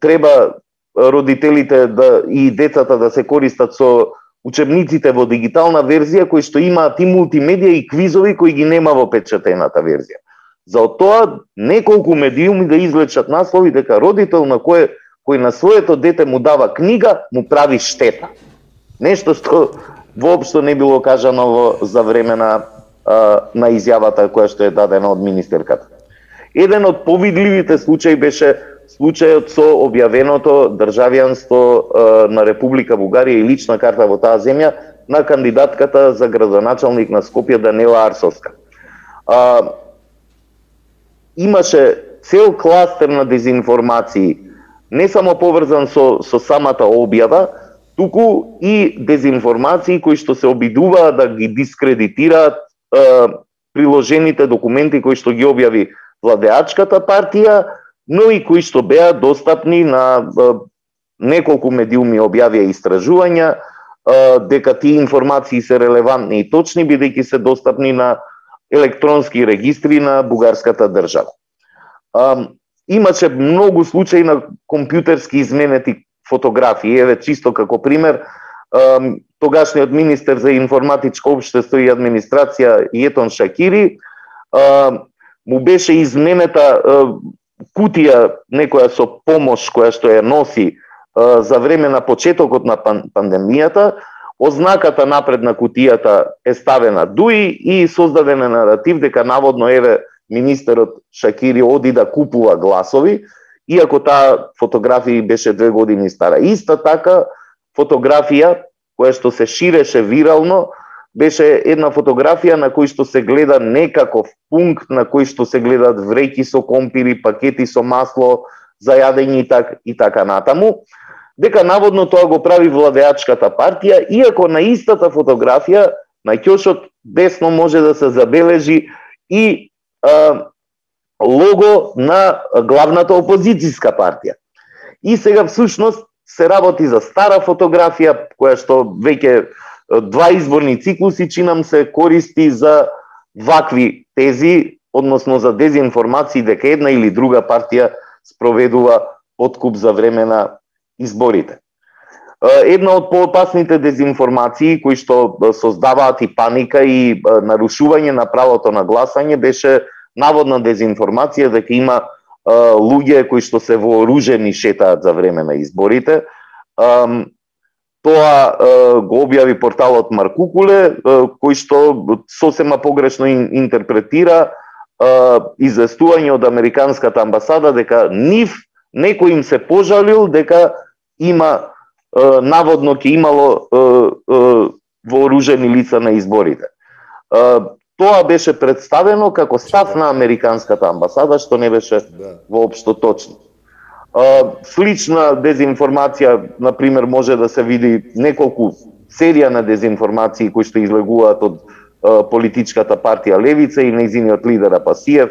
треба родителите и децата да се користат со учебниците во дигитална верзија кои што имаат и мултимедија и квизови кои ги нема во печатената верзија. За тоа неколку медиуми да извлечат наслови дека родител на кој на своето дете му дава книга му прави штета. Нешто што воопшто не било кажано за време на изјавата која што е дадена од министерката. Еден од повидливите случаи беше случајот со објавеното државјанство на Република Бугарија и лична карта во таа земја на кандидатката за градоначалник на Скопје Данела Арсовска. Имаше цел кластер на дезинформации, не само поврзан со самата објава, туку и дезинформации кои што се обидуваат да ги дискредитираат приложените документи кои што ги објави владеачката партија, но и кои што беа достапни на неколку медиуми објавија истражувања дека тие информации се релевантни и точни бидејќи се достапни на електронски регистри на бугарската држава. Имаше многу случаи на компјутерски изменети фотографии. Еве чисто како пример, тогашниот министер за информатичко општество и администрација Јетон Шакири му беше изменета кутија некоја со помош која што ја носи за време на почетокот на пандемијата. Ознаката напред на кутијата е ставена дуи и создаден е наратив дека наводно еве министерот Шакири оди да купува гласови, иако таа фотографија беше 2 години стара. Иста така фотографија која што се ширеше вирално беше една фотографија на кој што се гледа некаков пункт на кој што се гледат вреќи со компири, пакети со масло за јадење и така натаму, дека наводно тоа го прави владеачката партија, иако на истата фотографија на ќошот десно може да се забележи и лого на главната опозицијска партија. И сега всушност се работи за стара фотографија која што веќе 2 изборни циклуси чинам се користи за вакви тези, односно за дезинформации дека една или друга партија спроведува откуп за време на изборите. Една од поопасните дезинформации кои што создаваат и паника и нарушување на правото на гласање беше наводна дезинформација дека има луѓе кои што се вооружени шетаат за време на изборите. Тоа го објави порталот Маркукуле, кој што сосема погрешно интерпретира известување од Американската амбасада дека некој им се пожалил дека има наводно ќе имало вооружени лица на изборите. Тоа беше представено како став на Американската амбасада, што не беше воопшто точно. Слична дезинформација, например, може да се види неколку серија на дезинформации кои што излегуваат од политичката партија Левица и нејзиниот лидер Апасиев.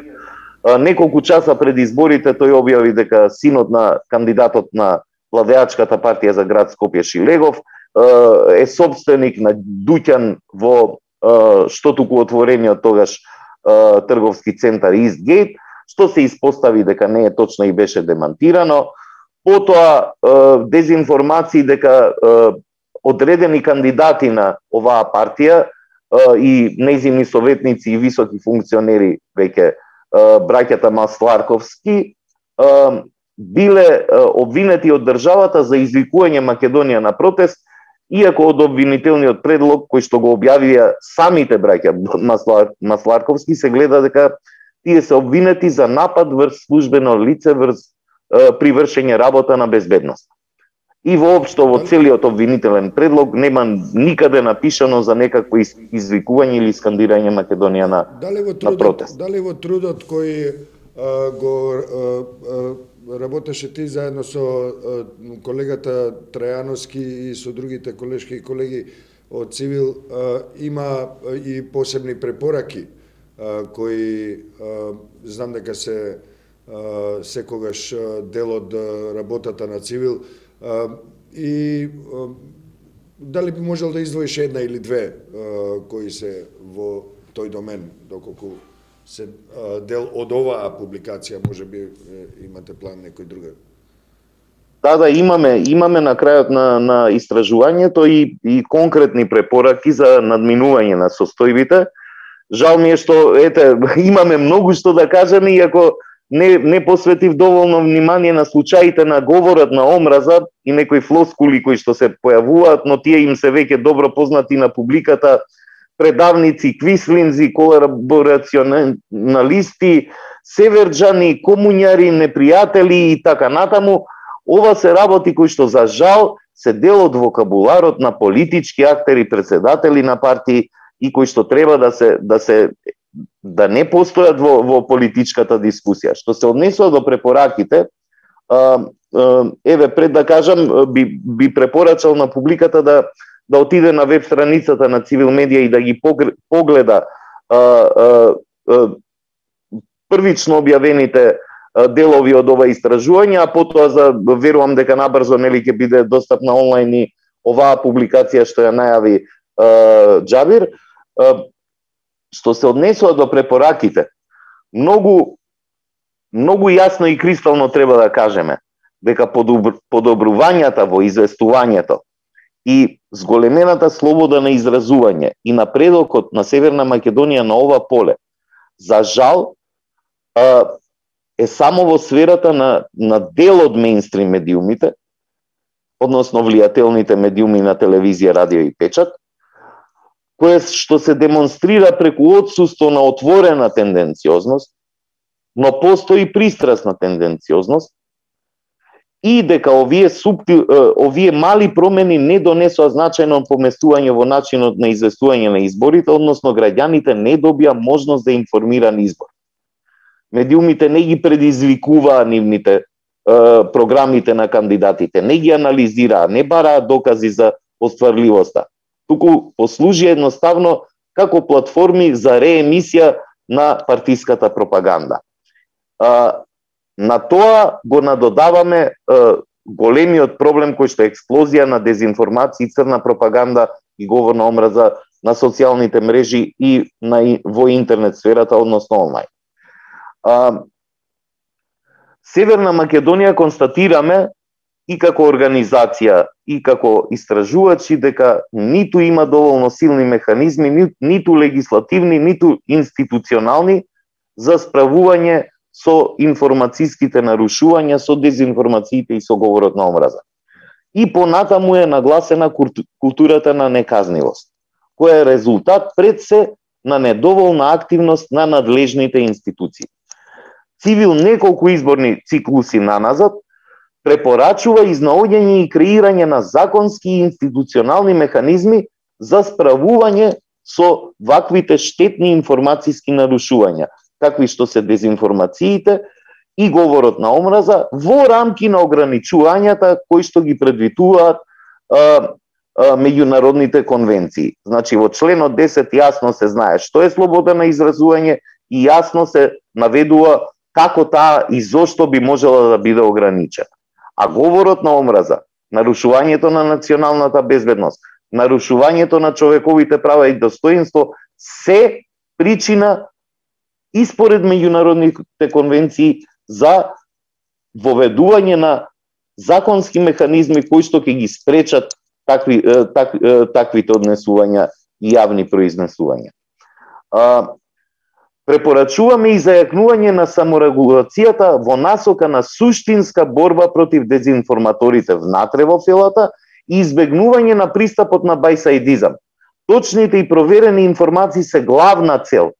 Неколку часа пред изборите тој објави дека синот на кандидатот на владеачката партија за град Скопје Шилегов е собственик на дуќан во што туку отворениот тогаш трговски центар Eastgate, што се испостави дека не е точно и беше демантирано. Потоа дезинформации дека одредени кандидати на оваа партија и нејзини советници и високи функционери, веќе браќата Масларковски, биле обвинети од државата за извикување Македонија на протест, иако од обвинителниот предлог кој што го објавија самите браќа Масларковски се гледа дека тие се обвинети за напад врз службено лице при вршење работа на безбедност. И воопшто во целиот обвинителен предлог нема никаде напишано за некакво извикување или скандирање Македонија на протест. Дали во трудот кој го работеше ти заедно со колегата Трајановски и со другите колешки и колеги од Цивил, има и посебни препораки кои знам дека се секогаш дел од работата на Цивил, и дали би можел да издвоиш една или две кои се во тој домен, доколку се дел од оваа публикација, може би имате план некој друга? Да, имаме на крајот на истражувањето и конкретни препораки за надминување на состојбите. Жал ми е што имаме многу што да кажеме, иако не посветив доволно внимание на случаите на говорот на омраза и некои флоскули кои што се појавуваат, но тие им се веќе добро познати на публиката, предавници, квислинзи, колаборационалисти, северџани, комуњари, непријатели и така натаму. Ова се работи кои што за жал се дел од вокабуларот на политички актери, председатели на партии и кои што треба да не постојат во политичката дискусија. Што се однесува до препораките, пред да кажам, би препорачал на публиката да отиде на веб страницата на Цивил Медија и да ги погледа првично објавените делови од ова истражување, а потоа верувам дека набрзо ќе биде достапна онлайн и оваа публикација што ја најави Џабир. Што се однесува до препораките, многу јасно и кристално треба да кажеме дека подобрувањата во известувањето и зголемената слобода на изразување и напредокот на Северна Македонија на ова поле, за жал, е само во сферата на дел од мејнстрим медиумите, односно влијателните медиуми на телевизија, радио и печат, кое што се демонстрира преку отсуство на отворена тенденциозност, но постои пристрасна тенденциозност, и дека овие мали промени не донесоа значајно поместување во начинот на известување на изборите, односно граѓаните не добија можност за информиран избор. Медиумите не ги предизвикуваа нивните програмите на кандидатите, не ги анализираа, не бараа докази за остварливоста, туку послужи едноставно како платформи за реемисија на партиската пропаганда. На тоа го надодаваме големиот проблем кој што е експлозија на дезинформација, црна пропаганда и говор на омраза на социјалните мрежи и во интернет сферата, односно онлайн. Северна Македонија констатираме и како организација, и како истражувачи дека ниту има доволно силни механизми, ниту легислативни, ниту институционални за справување со информацијските нарушувања, со дезинформациите и со говорот на омраза. И понатаму е нагласена културата на неказнивост, која е резултат пред се на недоволна активност на надлежните институции. Цивил неколку изборни циклуси наназад препорачува изнаоѓање и креирање на законски и институционални механизми за справување со ваквите штетни информацијски нарушувања, какви што се дезинформациите и говорот на омраза во рамки на ограничувањата кои што ги предвидуваат меѓународните конвенции. Значи во членот 10 јасно се знае што е слобода на изразување и јасно се наведува како таа и зошто би можела да биде ограничена. А говорот на омраза, нарушувањето на националната безбедност, нарушувањето на човековите права и достоинство се причина и според меѓународните конвенции за воведување на законски механизми кои што ќе ги спречат таквите однесувања и јавни произнесувања. Препорачуваме и зајакнување на саморегулацијата во насока на суштинска борба против дезинформаторите внатре во филата и избегнување на пристапот на бајсаидизам. Точните и проверени информации се главна цел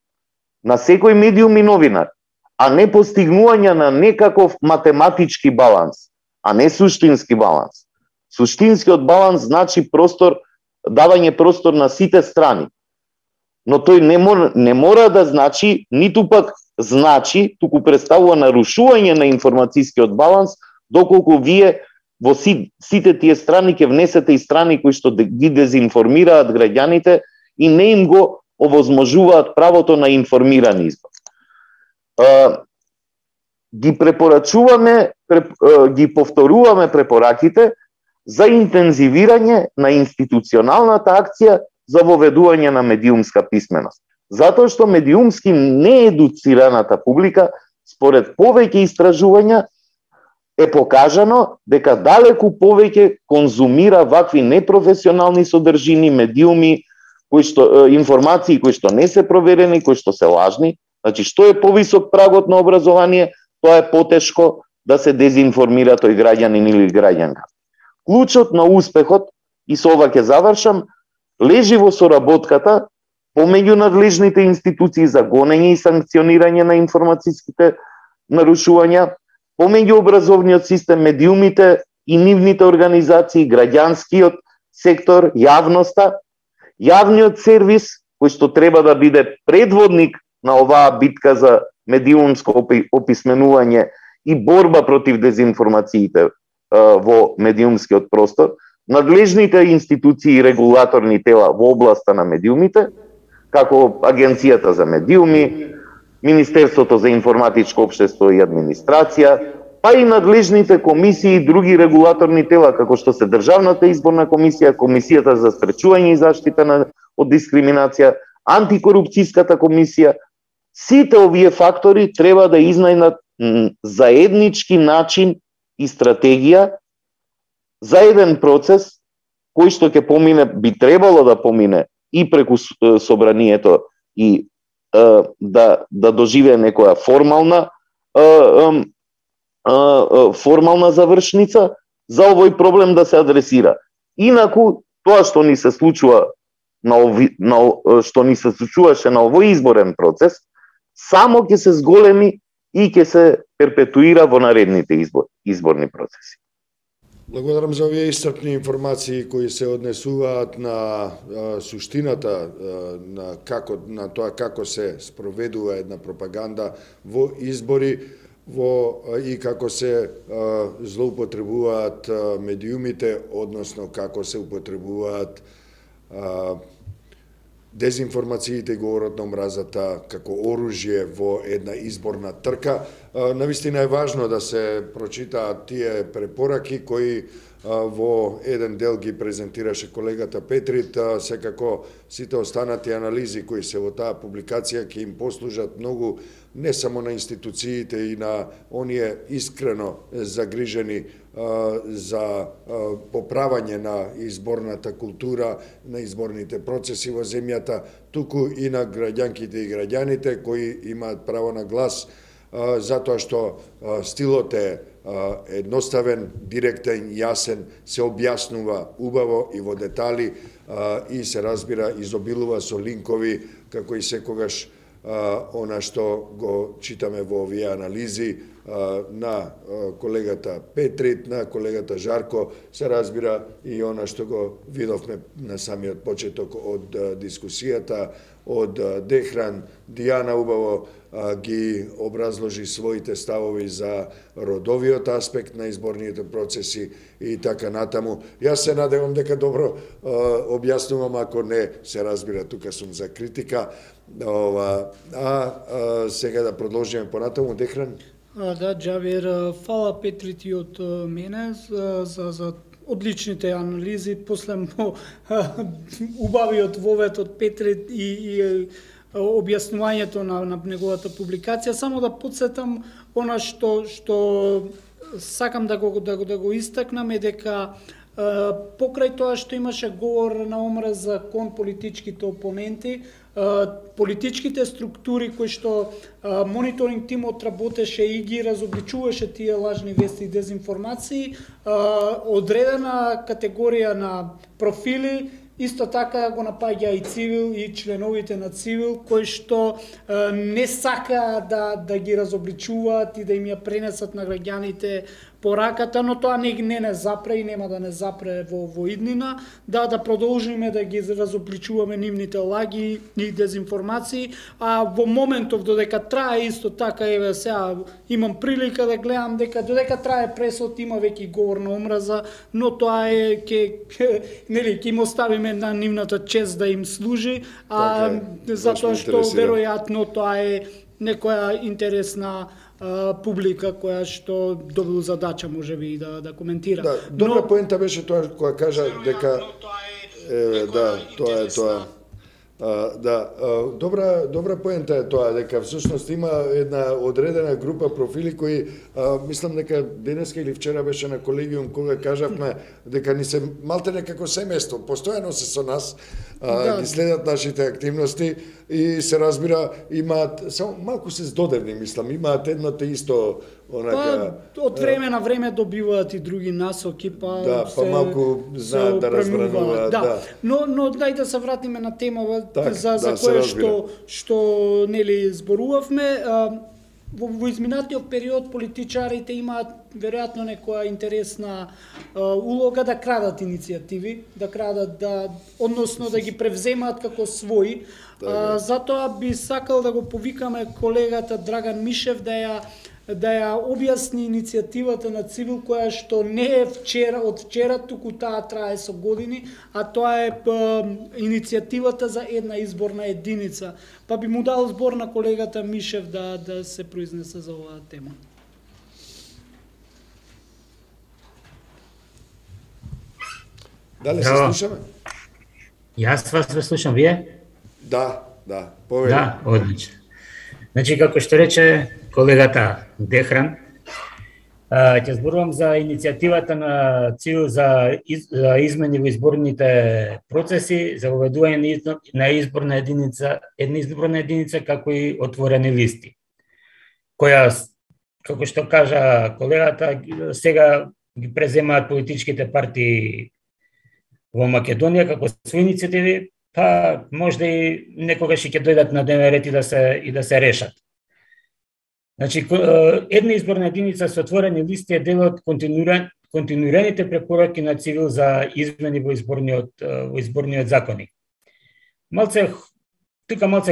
на секој медиум и новинар, а не постигнување на некаков математички баланс, а не суштински баланс. Суштинскиот баланс значи давање простор на сите страни. Но тој не мора да значи, ниту пак значи, туку представува нарушување на информацијскиот баланс, доколку вие во сите тие страни ќе внесете и страни кои што ги дезинформираат граѓаните и не им го овозможуваат правото на информиран избор. Ги препорачуваме, ги повторуваме препораките за интензивирање на институционалната акција за воведување на медиумска писменост. Затоа што медиумски неедуцираната публика, според повеќе истражувања, е покажано дека далеку повеќе конзумира вакви непрофесионални содржини, медиуми, информации кои што не се проверени, кои што се лажни. Значи, што е повисок прагот на образование, тоа е потешко да се дезинформира тој граѓанин или граѓанка. Клучот на успехот, и со ова ќе завршам, лежи во соработката помеѓу надлежните институции за гонење и санкционирање на информацијските нарушувања, помеѓу образовниот систем, медиумите и нивните организации, граѓанскиот сектор, јавноста, јавниот сервис, кој што треба да биде предводник на оваа битка за медиумско описменување и борба против дезинформациите во медиумскиот простор, надлежните институции и регулаторни тела во областа на медиумите, како Агенцијата за медиуми, Министерството за информатичко општество и администрација, па и надлежните комисии и други регулаторни тела, како што се Државната изборна комисија, Комисијата за спречување и заштита од дискриминација, Антикорупцијската комисија. Сите овие фактори треба да изнајдат заеднички начин и стратегија за еден процес кој што ќе помине, би требало да помине и преку собранието и да доживее некоја формална завршница за овој проблем да се адресира. Инаку тоа што ни се случува што ни се случуваше на овој изборен процес само ќе се зголеми и ќе се перпетуира во наредните изборни процеси. Благодарам за овие исцрпни информации кои се однесуваат на суштината на тоа како се спроведува една пропаганда во избори и како се злоупотребуваат медиумите, односно како се употребуваат дезинформациите и говорот на омразата како оружје во една изборна трка. Навистина е важно да се прочитаат тие препораки кои во еден дел ги презентираше колегата Петрит. Секако сите останати анализи кои се во таа публикација ќе им послужат многу не само на институциите и на оние искрено загрижени за поправање на изборната култура, на изборните процеси во земјата, туку и на граѓанките и граѓаните кои имаат право на глас, затоа што стилот е едноставен, директен, јасен, се објаснува убаво и во детали и се разбира, изобилува со линкови, како и секогаш она што го читаме во овие анализи на колегата Петрит, на колегата Жарко, се разбира и она што го видовме на самиот почеток од дискусијата, од Дехран. Дијана убаво ги образложи своите ставови за родовиот аспект на изборните процеси и така натаму. Јас се надевам дека добро објаснувам, ако не се разбира, тука сум за критика. Сега да продолжиме понатаму, Дехран. Да, Џавер, фала Петрит и од мене за одличните анализи, после убавиот вовет од Петрит и објаснувањето на неговата публикација. Само да подсетам она што сакам да го истакнам е дека покрај тоа што имаше говор на омраза кон политичките опоненти, политичките структури кои што мониторинг тимот работеше и ги разобличуваше тие лажни вести и дезинформации, одредена категорија на профили исто така го напаѓа и Цивил и членовите на Цивил кои што не сака да ги разобличуваат и да им ја пренесат на граѓаните пораката, но тоа не запре и нема да не запре во иднина, да продолжиме да ги разобличуваме нивните лаги и дезинформации, а во моментов додека трае исто така, еве сега имам прилика да гледам дека додека трае пресот има веќе говор на омраза, но тоа е ќе им оставиме на нивната чест да им служи, затоа што веројатно тоа е некоја интересна публика која што добил задача можеби да коментира. Да, добра поента беше тоа која кажа дека тоа е тоа. Добра поента е тоа дека всушност има една одредена група профили кои мислам дека денеска или вчера беше на колегиум кога кажавме дека ни се малте како семејство, постојано се со нас, ги следат нашите активности и се разбира имаат само малку се здодевни, мислам, имаат едно те исто онака од време на време добиваат и други насоки, па малку знаат да разбрануваат, Но дај да се вратиме на темава за кое што нели зборувавме. Во изминатиот период политичарите имаат веројатно некоја интересна улога да крадат иницијативи, да крадат, односно да ги превземаат како своји. Затоа би сакал да го повикаме колегата Драган Мишев да ја објасни иницијативата на Цивил, која што не е од вчера, туку таа трае со години, а тоа е иницијативата за една изборна единица. Па би му дал збор на колегата Мишев да се произнесе за оваа тема. Дали се слушаме? Јас вас ве слушам, вие? Да, повеќе. Да, одлично. Значи, како што рече колегата Дехран, ќе зборувам за иницијативата на Цивил за измени во изборните процеси, за воведување на изборна единица како и отворени листи, која, како што кажа колегата, сега ги преземаат политичките партии во Македонија како своји иницијативи, па можда и некогаш ќе дојдат на дневен ред и да се решат. Значи, една изборна единица со отворени листи е дел од континуираните препораки на Цивил за измени во изборниот законник. Малце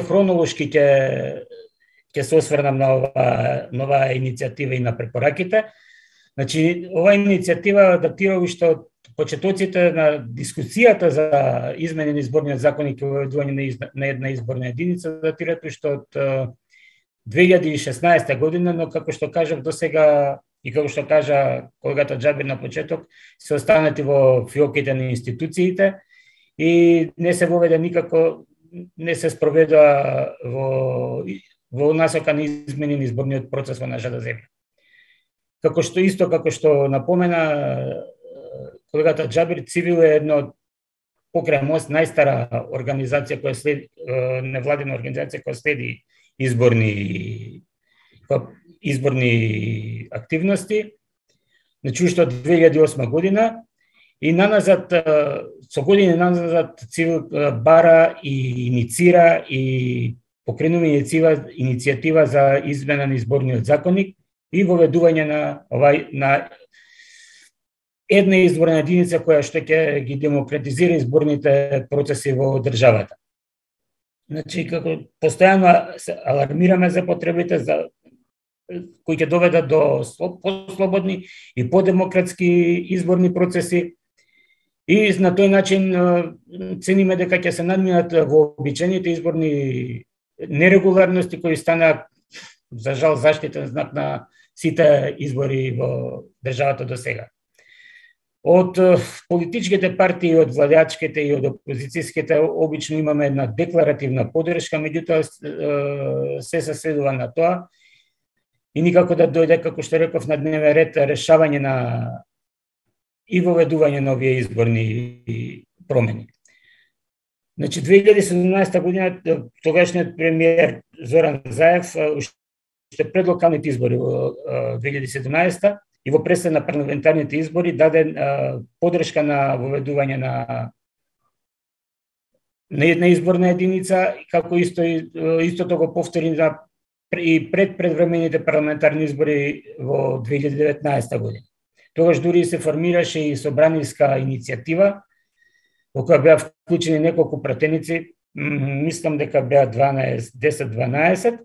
хронолошки ќе се осврнам на оваа иницијатива и на препораките. Значи, оваа иницијатива датира уште од почетоците на дискусијата за измени на изборниот законник и воведување на една изборна единица, датираат уште од 2016 година, но како што кажав досега и како што кажа колегата Џабир на почеток, се останати во фиоките на институциите и не се воведе никако, не се спроведува во насока на измени на изборниот процес во нашата земја. Како што напомена колегата Џабир, Цивил е едно покрај МОСТ најстара организација која следи, невладина организација која следи изборни активности, значи уште од 2008 година и со години наназад Цивил бара и иницира и покренува иницијатива за измена на изборниот законник и воведување на една изборна единица која што ќе ги демократизира изборните процеси во државата. Значи, како постојано се алармираме за потребите кои ќе доведат до послободни и подемократски изборни процеси и на тој начин цениме дека ќе се надминат вообичаените изборни нерегуларности кои станаа за жал заштитен знак на сите избори во државата до сега. Од политичките партии, од владеачките и од опозицијските обично имаме една декларативна поддршка, меѓутоа се сведува на тоа и никако да дојде, како што реков, на дневен ред решавање на и воведување на овие изборни промени. Значи, 2017 година тогашниот премиер Зоран Заев уште пред локалните избори во 2017 и во пресед на парламентарните избори даде поддршка на воведување на една изборна единица, како истото го повтори и пред предвремените парламентарни избори во 2019 година. Тогаш дури се формираше и собраниска иницијатива, во која беа вклучени неколку пратеници, мислам дека беа 10-12,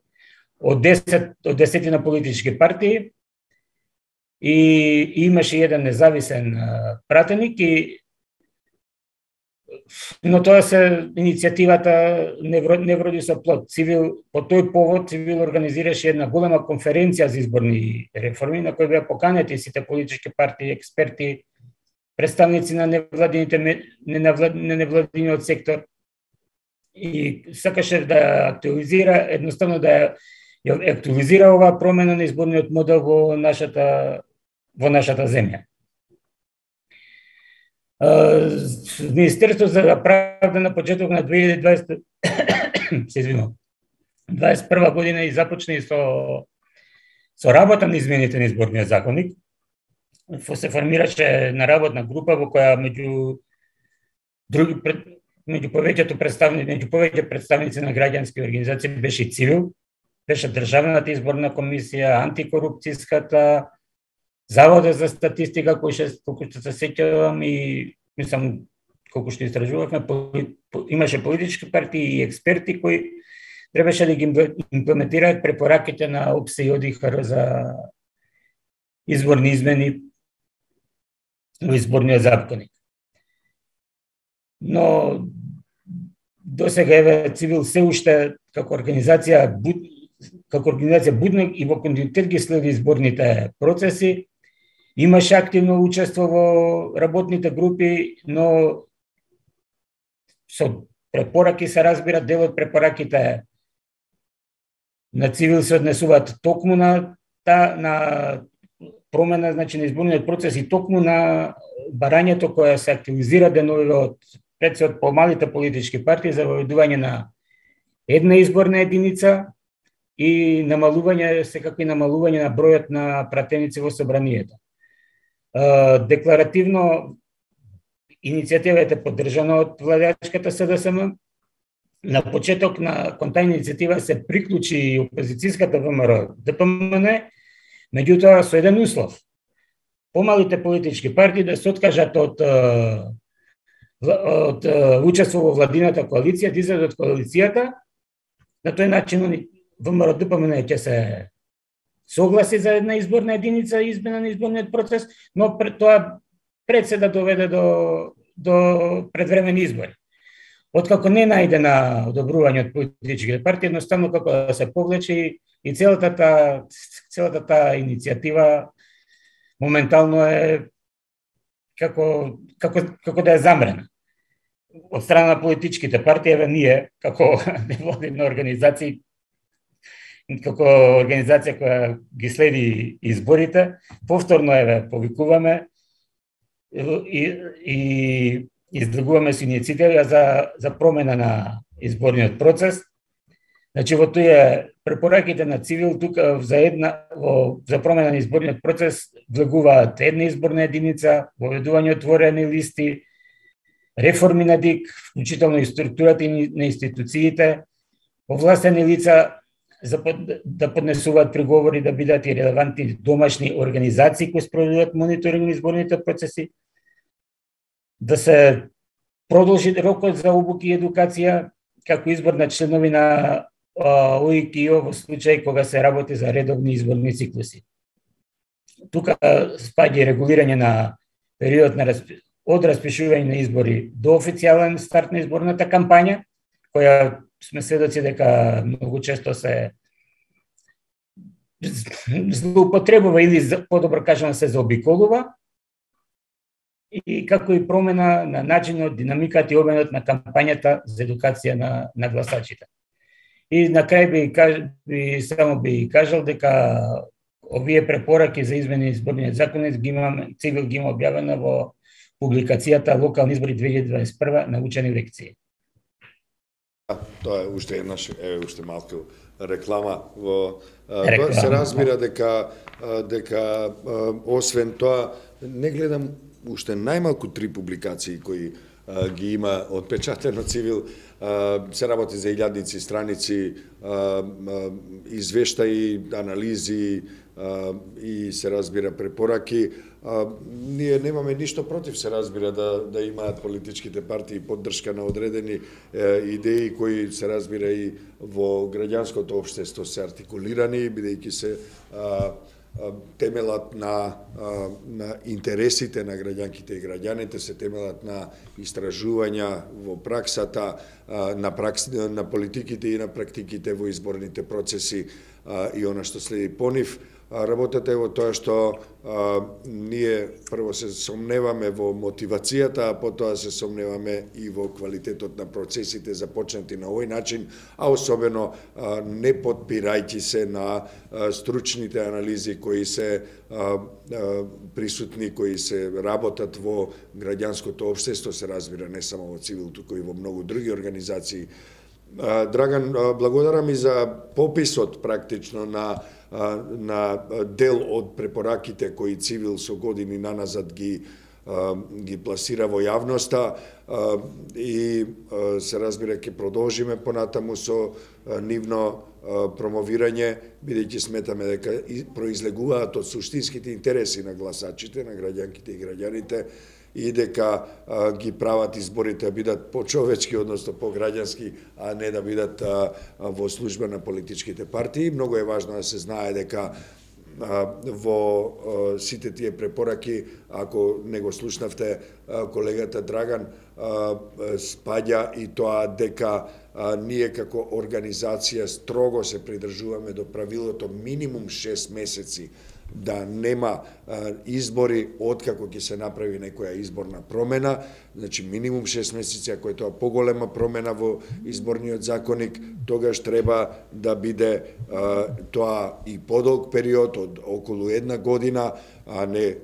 од 10 на политички партии, и имаше еден независен пратеник, но тоа иницијативата не вроди со плод. По тој повод Цивил организираше една голема конференција за изборни реформи, на која беа поканети сите политички партии, експерти, представници на невладиниот сектор, и сакаше да актуализира, едноставно да актуализира оваа промена на изборниот модел во нашата земја. Министерството за правда на почеток на 2021 година и започна и со работа на измените на изборниот законник. Се формираше на работна група во која меѓу повеќе представници на граѓански организации беше и Цивил, беше Државната изборна комисија, антикорупцијската, Завода за статистика, колку што се сеќавам и мислам колку што истражувавме, имаше политички партии и експерти кои требаше да ги имплементираат препораките на ОПСЕ и ОДИХР за изборни измени во изборниот законник. Но до сега еве Цивил се уште како организација будна и во континуитет ги следи изборните процеси, имаше активно учество во работните групи, но со препораки се разбира, дел од препораките на Цивил се однесуваат токму на промена, значи на изборниот процес и токму на барањето кое се активизира деновиве пред се од помалите политички партии за воведување на една изборна единица и намалување на бројот на пратеници во собранието. Декларативно иницијативата е поддржана од владеачката СДСМ. На почеток кон таа иницијатива се приклучи и опозицијската ВМРО ДПМН, меѓутоа со еден услов. Помалите политички партии да се откажат од учество во владината коалиција, да излезат од коалицијата. На тој начин ВМРО ДПМН ќе се согласи за една изборна единица и измена на изборниот процес, но тоа пред се да доведе до предвремени избори. Откако не најде на одобрување од политичките партии, едноставно како да се повлече и целата таа иницијатива моментално е како да е замрена. Од страна на политичките партии, еве ние, како невладина организација, како организација која ги следи изборите, повторно еве повикуваме и издргуваме со иницијатива за промена на изборниот процес. Значи во тие препораките на Цивил тука за промена на изборниот процес влегуваат една изборна единица, воведување отворени листи, реформи на ДИК, вклучително и структурата на институциите овластени лица да поднесуваат приговори, да бидат и релевантни домашни организации кои спроведуваат мониторинг на изборните процеси, да се продолжи рокот за обуки и едукација, како избор на членови на ОИК-ио во случај кога се работи за редовни изборни циклуси. Тука спаѓа и регулирање на период од распишување на избори до официјален старт на изборната кампања, која сме сведоци дека многу често се злоупотребува или подобро кажано се заобиколува, и како и промена на начинот, динамиката и обемот на кампањата за едукација на гласачите. И на крај би кажал дека овие препораки за измени изборниот законот Цивил ги има објавена во публикацијата Локални избори 2021 научени лекции. Тоа е уште еднаш, уште малку реклама во тоа се разбира дека освен тоа не гледам уште најмалку 3 публикации кои ги има отпечатено Цивил, се работи за илјадници страници, извештаи, анализи и се разбира препораки. Ние немаме ништо против, се разбира, да имаат политичките партии поддршка на одредени идеи кои се разбира и во граѓанското општество се артикулирани, бидејќи се темелат на интересите на граѓанките и граѓаните, се темелат на истражувања во праксата, на политиките и на практиките во изборните процеси и она што следи по нив. Работата е во тоа што ние прво се сомневаме во мотивацијата, а потоа се сомневаме и во квалитетот на процесите започнати на овој начин, а особено не подпирајќи се на стручните анализи кои се присутни, кои се работат во граѓанското општество, се разбира не само во Цивил, туку и во многу други организации. Драган, благодарам и за пописот практично на дел од препораките кои Цивил со години наназад ги пласира во јавноста и се разбира ќе продолжиме понатаму со нивно промовирање, бидејќи сметаме дека произлегуваат од суштинските интереси на гласачите, на граѓанките и граѓаните, и дека ги прават изборите да бидат почовечки, односно пограѓански, а не да бидат во служба на политичките партии. Многу е важно да се знае дека во сите тие препораки, ако не го слушнавте колегата Драган, спаѓа и тоа дека ние како организација строго се придржуваме до правилото минимум 6 месеци да нема избори откако ќе се направи некоја изборна промена, значи минимум 6 месеци, ако е тоа поголема промена во изборниот законник, тогаш треба да биде тоа и подолг период од околу 1 година, а не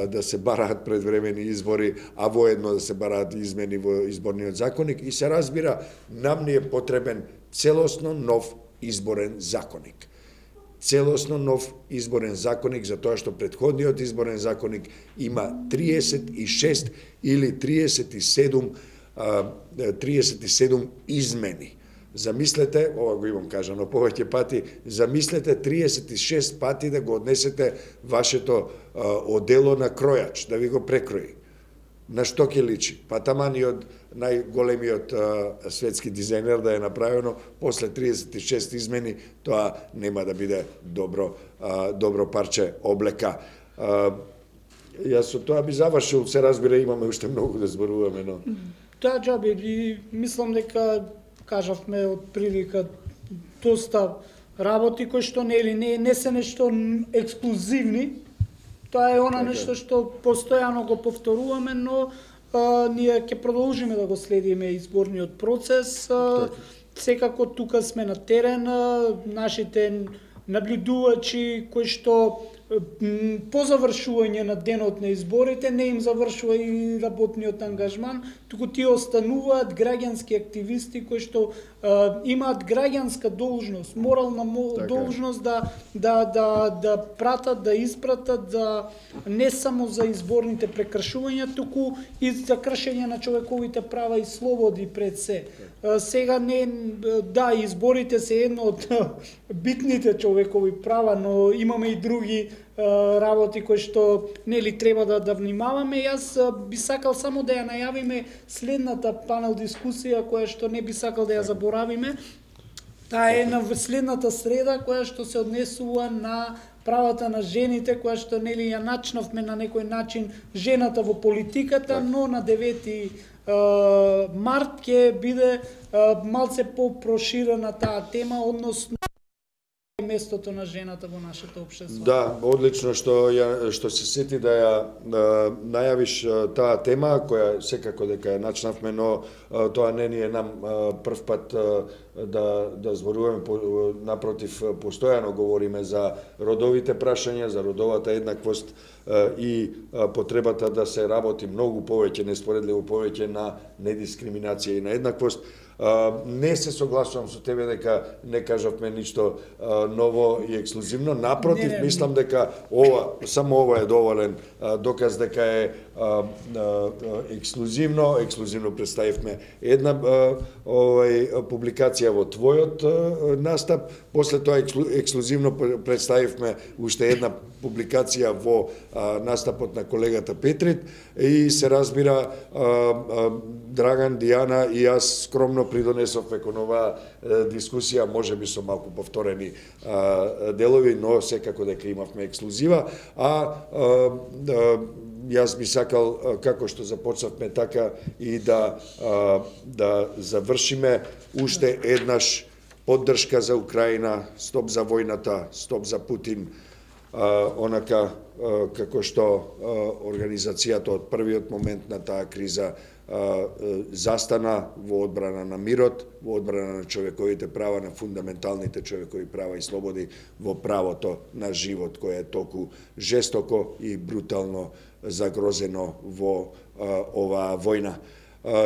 да се бараат предвремени избори, а воедно да се бараат измени во изборниот законник. И се разбира, нам ни е потребен целосно нов изборен законник. Целосно нов изборен законник, за тоа што претходниот изборен законник има 36 или 37 измени. Замислете, ова го имам кажано повеќе пати, замислете 36 пати да го однесете вашето одело на кројач, да ви го прекрои. На што ќе личи? Па таман и од најголемиот светски дизајнер да е направено, после 36 измени, тоа нема да биде добро парче облека. Јас со тоа би завршил, се разбира, имаме уште многу да зборуваме, но... Да, Џаби, и мислам дека кажавме од прилика доста работи кои што не се нешто ексклузивни. Тоа е она нешто што постојано го повторуваме, но ние ќе продолжиме да го следиме изборниот процес. Секако тука сме на терен, нашите наблюдувачи кои што по завршување на денот на изборите не им завршува и работниот ангажман, туку тие остануваат граѓански активисти кои што имаат граѓанска должност, морална должност да пратат, да испратат за не само за изборните прекршувања, туку и за кршење на човековите права и слободи пред се. Сега изборите се едно од битните човекови права, но имаме и други работи кои што нели треба да внимаваме. Јас би сакал само да ја најавиме следната панел дискусија која што не би сакал да ја заборавиме. Таа е на следната среда која што се однесува на правата на жените, која што нели ја начнавме на некој начин жената во политиката, но на 9 март ќе биде малце попроширена таа тема, односно местото на жената во нашето општество. Да, одлично што се сети да ја најавиш таа тема, која секако дека ја начнавме, но тоа не ни е нам прв пат да зборуваме, напротив, постојано говориме за родовите прашања, за родовата еднаквост и потребата да се работи многу повеќе, неспоредливо повеќе на недискриминација и на еднаквост. Не се согласувам со тебе дека не кажавме ништо ново и ексклузивно. Напротив, мислам дека само ова е доволен доказ дека е ексклузивно представивме една публикација во твојот настап, после тоа ексклузивно представивме уште една публикација во настапот на колегата Петрит и се разбира Драган, Дијана и јас скромно придонесовме кон оваа дискусија, можеби со малку повторени делови, но секако дека имавме ексклузива, јас би сакал, како што започнавме така, и да завршиме уште еднаш поддршка за Украина, стоп за војната, стоп за Путин, онака како што организацијата од првиот момент на таа криза застана во одбрана на мирот, во одбрана на човековите права, на фундаменталните човекови права и слободи, во правото на живот, кој е толку жестоко и брутално загрозено во оваа војна.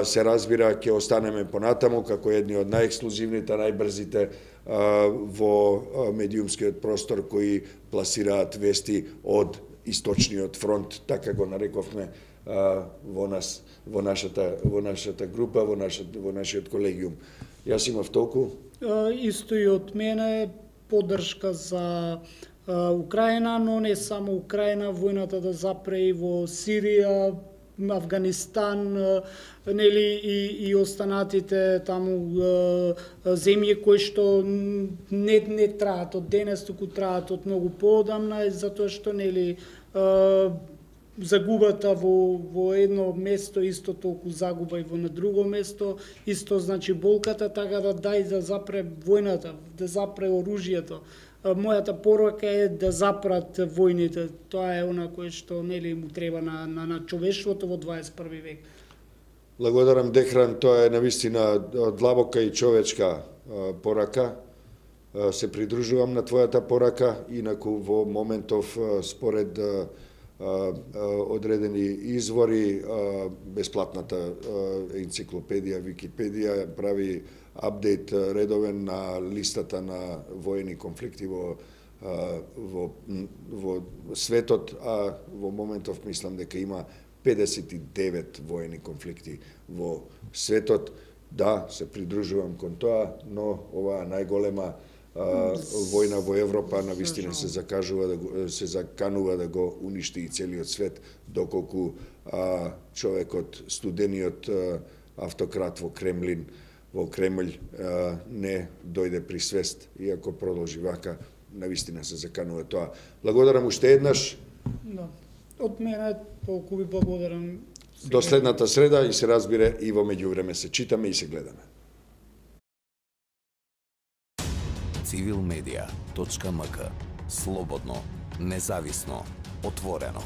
Се разбира, ќе останеме понатаму како едни од најексклузивните, најбрзите во медиумскиот простор кои пласираат вести од источниот фронт, така го нарековме во нашата група, во нашиот колегиум. Јас имав толку. Исто и од мене поддршка за Украина, но не само Украина, војната да запре и во Сирија, Афганистан, нели и останатите таму земји кои што не траат од денес, туку траат од многу поодамна, затоа што нели загубата во едно место исто толку загуба и во на друго место, исто значи болката, така да запре војната, да запре оружјето. Мојата порака е да запрат војните. Тоа е она кое што нели му треба на човештвото во 21 век. Благодарам, Дехран, тоа е навистина длабока и човечка порака. Се придружувам на твојата порака, инаку во моментов според одредени извори, бесплатната енциклопедија Википедија прави апдейт редовен на листата на воени конфликти во светот, а во моментов мислам дека има 59 воени конфликти во светот. Да, се придружувам кон тоа, но оваа најголема војна во Европа навистина се заканува да го уништи и целиот свет, доколку човекот, студениот автократ во Кремљ не дојде при свест, и ако продолжи вака, навистина се заканува тоа. Благодарам уште еднаш. Да. Од мене толку ви благодарам. До следната среда и се разбира и во меѓувреме се читаме и се гледаме. civilmedia.mk. Слободно, независно, отворено.